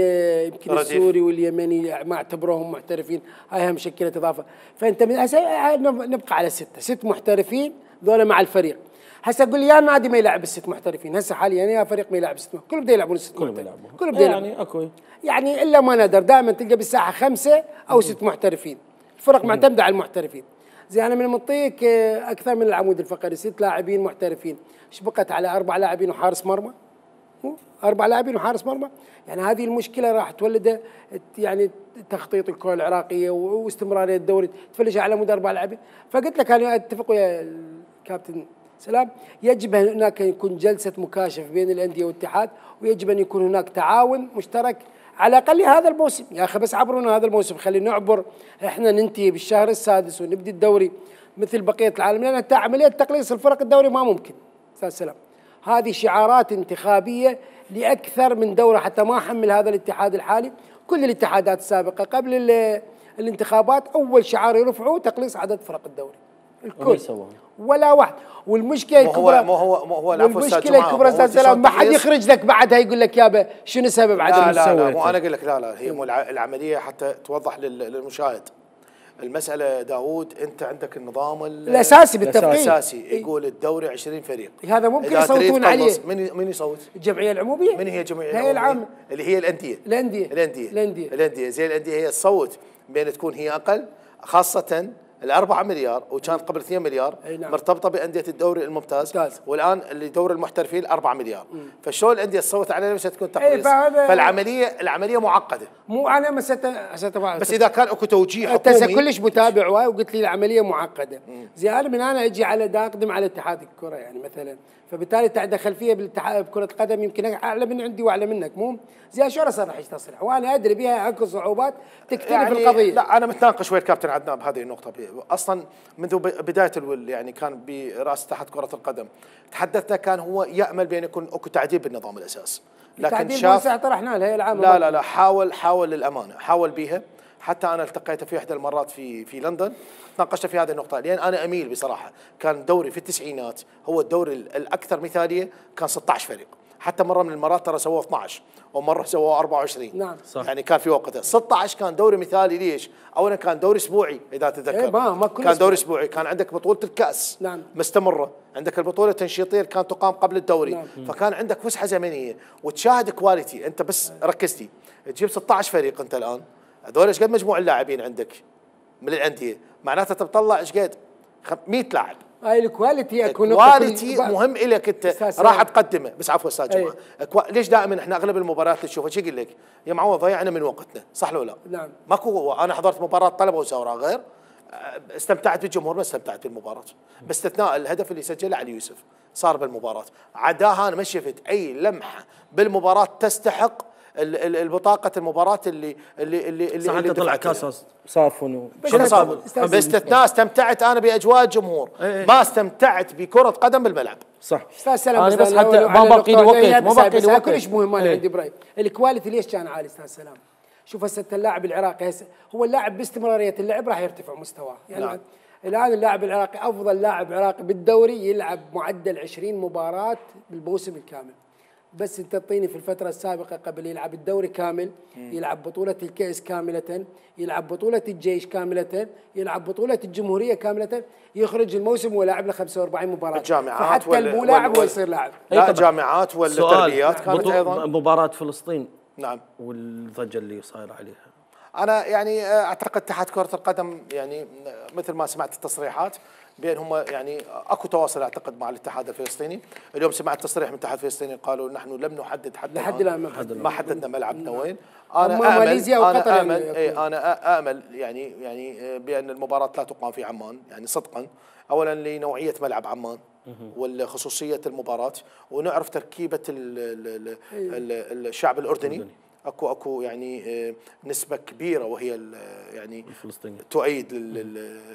يمكن السوري واليمني ما اعتبروهم محترفين، هاي هم مشكله اضافه. فانت من هسه نبقى على سته، ست محترفين ذولا مع الفريق. هسه قول لي يا نادي ما يلعب الست محترفين، هسه حاليا يا فريق ما يلعب الست، كلهم بده يلعبون الست كلهم يلعبون كلهم بده يلعبون يعني اكو يعني الا ما نادر دائما تلقى بالساحه خمسه او ست محترفين، الفرق معتمده على المحترفين. زي انا من منطيك اكثر من العمود الفقري ست لاعبين محترفين، ايش بقت على اربع لاعبين وحارس مرمى؟ اربع لاعبين وحارس مرمى، يعني هذه المشكله راح تولد يعني تخطيط الكره العراقيه واستمراريه الدوري تفلش على مدى اربع لاعبين. فقلت لك انا اتفق ويا الكابتن سلام، يجب هناك يكون جلسه مكاشفه بين الانديه والاتحاد، ويجب ان يكون هناك تعاون مشترك على الاقل هذا الموسم. يا اخي بس عبرونا هذا الموسم، خلينا نعبر، احنا ننتهي بالشهر السادس ونبدي الدوري مثل بقيه العالم، لان انت عمليه تقليص الفرق الدوري ما ممكن. استاذ سلام هذه شعارات انتخابيه لاكثر من دوره، حتى ما حمل هذا الاتحاد الحالي كل الاتحادات السابقه قبل الانتخابات اول شعار يرفعوه تقليص عدد فرق الدوري الكل ولا واحد. والمشكله الكبرى مو هو مو هو المشكله الكبرى استاذ سلام ما حد يخرج لك بعدها يقول لك يابا شنو سبب عدم لا لا لا مو انا اقول لك لا لا هي مو العمليه حتى توضح للمشاهد المساله. داوود انت عندك النظام الاساسي بالتفقيه الاساسي يقول الدوري عشرين فريق، هذا ممكن يصوتون عليه. من من يصوت؟ الجمعيه العموميه. من هي الجمعيه العموميه؟ العامه اللي هي الانديه الانديه الانديه الانديه الانديه زي الانديه هي تصوت بين تكون هي اقل، خاصه الأربعة مليار وكانت قبل اثنين مليار نعم. مرتبطة بأندية الدوري الممتاز ممتاز. والآن اللي دوري المحترفين أربعة مليار. فشلون الأندية تصوت علينا مش تكون إيه، تقليص؟ فهذا- فالعملية العملية معقدة. مو انا مسألة هسه بس إذا كان اكو توجيه انت هسه حكومي كلش متابع واي وقلت لي العمليه معقده. زي انا من انا اجي على دا اقدم على اتحاد الكره يعني مثلا، فبالتالي انت عندك خلفيه بالاتحاد بكره القدم يمكن اعلى من عندي واعلى منك، مو زي شو اصرح ايش تصرح وانا ادري بها اكو صعوبات تختلف يعني القضيه. لا انا متناقش ويا الكابتن عدنان بهذه النقطه. اصلا منذ بدايه الول يعني كان براس اتحاد كره القدم تحدثنا كان هو يامل بان يكون اكو تعديل بالنظام الاساس، لكن تعديل شاف ما طرحنا لها العام. لا لا لا حاول حاول للامانه حاول بيها. حتى انا التقيت في احدى المرات في في لندن تناقشت في هذه النقطه، لان انا اميل بصراحه كان الدوري في التسعينات هو الدوري الاكثر مثاليه، كان ستة عشر فريق، حتى مره من المرات ترى سووه اثني عشر ومره سووه أربعة وعشرين. نعم صح. يعني كان في وقتها ستة عشر كان دوري مثالي. ليش؟ اولا كان دوري اسبوعي اذا تتذكر. إيه ما ما كل كان أسبوع. دوري اسبوعي، كان عندك بطوله الكاس نعم. مستمره، عندك البطوله التنشيطيه اللي كانت تقام قبل الدوري. نعم. فكان عندك فسحه زمنيه وتشاهد كواليتي. انت بس ركزتي تجيب ستة عشر فريق انت الان، هذول ايش قد مجموع اللاعبين عندك من الانديه؟ معناته تطلع ايش قد مئة لاعب. هاي الكواليتي اكو الكواليتي مهم لك انت راح تقدمه. بس عفوا استاذ أي. جماعه، ليش دائما احنا اغلب المباريات اللي نشوفها شو اقول لك يا معوض ضيعنا من وقتنا، صح لو لا؟ نعم. ماكو. انا حضرت مباراه طلبه وزوراء غير استمتعت بالجمهور، ما استمتعت بالمباراه باستثناء الهدف اللي سجله علي يوسف صار بالمباراه. عداها انا ما شفت اي لمحه بالمباراه تستحق البطاقه المباراه اللي اللي اللي اللي, صح. اللي طلع كاس صافون شنو صار؟ باستثناء استمتعت انا باجواء الجمهور، ما استمتعت بكره قدم بالملعب. صح. استاذ سلام انا بس لو- حتى لو ما على باقي لي النقطة هي وقت ما بس- باقي بس لي وقت كلش مهم انا إيه. عندي براي. الكواليتي ليش كان عالي استاذ سلام؟ شوف هسه اللاعب العراقي هسه هو اللاعب باستمراريه اللعب راح يرتفع مستواه يعني. نعم. الان اللاعب العراقي افضل لاعب عراقي بالدوري يلعب معدل عشرين مباراه بالموسم الكامل. بس انت تعطيني في الفتره السابقه قبل يلعب الدوري كامل، يلعب بطوله الكاس كامله، يلعب بطوله الجيش كامله، يلعب بطوله الجمهوريه كامله، يخرج الموسم ولاعب له خمسة وأربعين مباراه. الجامعات فحتى وال- المو لاعب وال- هو يصير لاعب. لا جامعات والتربيات كانت بطو- ايضا. مباراة فلسطين نعم. والضجة اللي صايرة عليها. انا يعني اعتقد اتحاد كره القدم يعني مثل ما سمعت التصريحات بين هم يعني اكو تواصل اعتقد مع الاتحاد الفلسطيني. اليوم سمعت تصريح من الاتحاد الفلسطيني قالوا نحن لم نحدد حتى لحد الان ما ما حددنا ملعبنا وين. أما انا ماليزيا امل وقطر انا يعني امل يكون. إيه انا امل يعني يعني بان المباراه لا تقام في عمان يعني صدقا، اولا لنوعيه ملعب عمان والخصوصيه المباراه، ونعرف تركيبه ال ال ال الشعب الاردني. اكو اكو يعني نسبه كبيره وهي يعني الفلسطيني تؤيد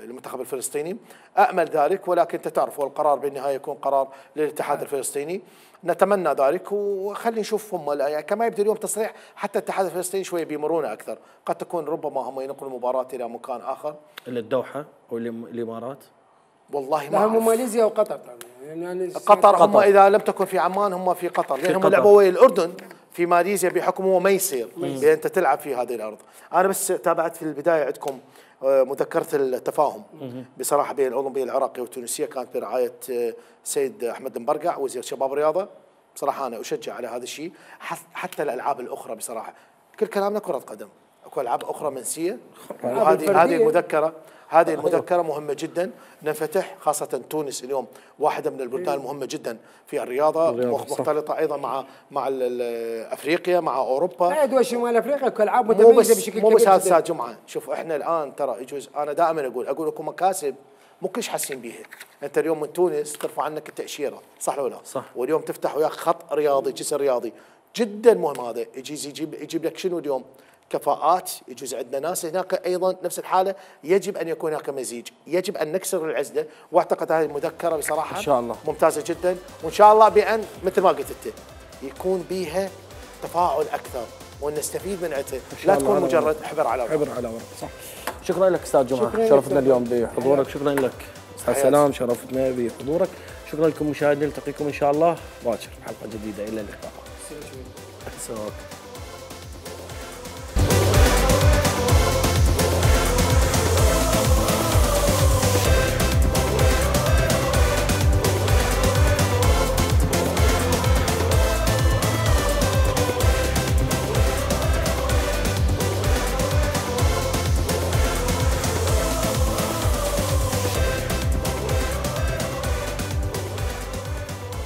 المنتخب الفلسطيني. امل ذلك، ولكن انت تعرف والقرار بالنهايه يكون قرار للاتحاد الفلسطيني. نتمنى ذلك وخلي نشوف هم يعني كما يبدو اليوم تصريح حتى الاتحاد الفلسطيني شويه بيمرونه اكثر، قد تكون ربما هم ينقلوا المباراه الى مكان اخر. الى الدوحه او الامارات. والله ما لا هم أعرف. ماليزيا وقطر طبعا يعني قطر هم اذا لم تكن في عمان هم في قطر، لان هم لعبوا ويا الاردن في ماليزيا بحكم هو ما يصير بان انت تلعب في هذه الارض. انا بس تابعت في البدايه عندكم مذكره التفاهم بصراحه بين الاولمبيه العراقيه والتونسيه، كانت برعايه سيد احمد المبرقع وزير شباب الرياضه. بصراحه انا اشجع على هذا الشيء، حتى الالعاب الاخرى بصراحه كل كلامنا كره قدم، اكو العاب اخرى منسيه وهذه هذه المذكره هذه المذكره مهمه جدا ننفتح، خاصه تونس اليوم واحده من البلدان المهمه جدا في الرياضه، مختلطه ايضا مع مع افريقيا مع اوروبا. لا دول شمال افريقيا كالعاب متميزه بشكل كبير. مو بس هذا جمعه، شوف احنا الان ترى يجوز انا دائما اقول اقول لكم مكاسب مو كلش حاسين بيها. انت اليوم من تونس ترفع عنك التاشيره، صح ولا لا؟ صح. واليوم تفتح وياك خط رياضي جسر رياضي جدا مهم. هذا يجي يجيب يجيب لك شنو اليوم؟ كفاءات. يجوز عندنا ناس هناك ايضا نفس الحاله، يجب ان يكون هناك مزيج، يجب ان نكسر العزله. واعتقد هذه المذكره بصراحه ان شاء الله ممتازه جدا، وان شاء الله بان مثل ما قلت انت يكون بها تفاعل اكثر ونستفيد من عندها، لا تكون مجرد حبر على ورق. حبر على ورق صح. شكرا لك استاذ جمعه، شرفتنا اليوم بحضورك. شكرا لك استاذ سلام، شرفتنا بحضورك. شكرا لكم مشاهدينا، نلتقيكم ان شاء الله باكر بحلقه جديده. الى اللقاء.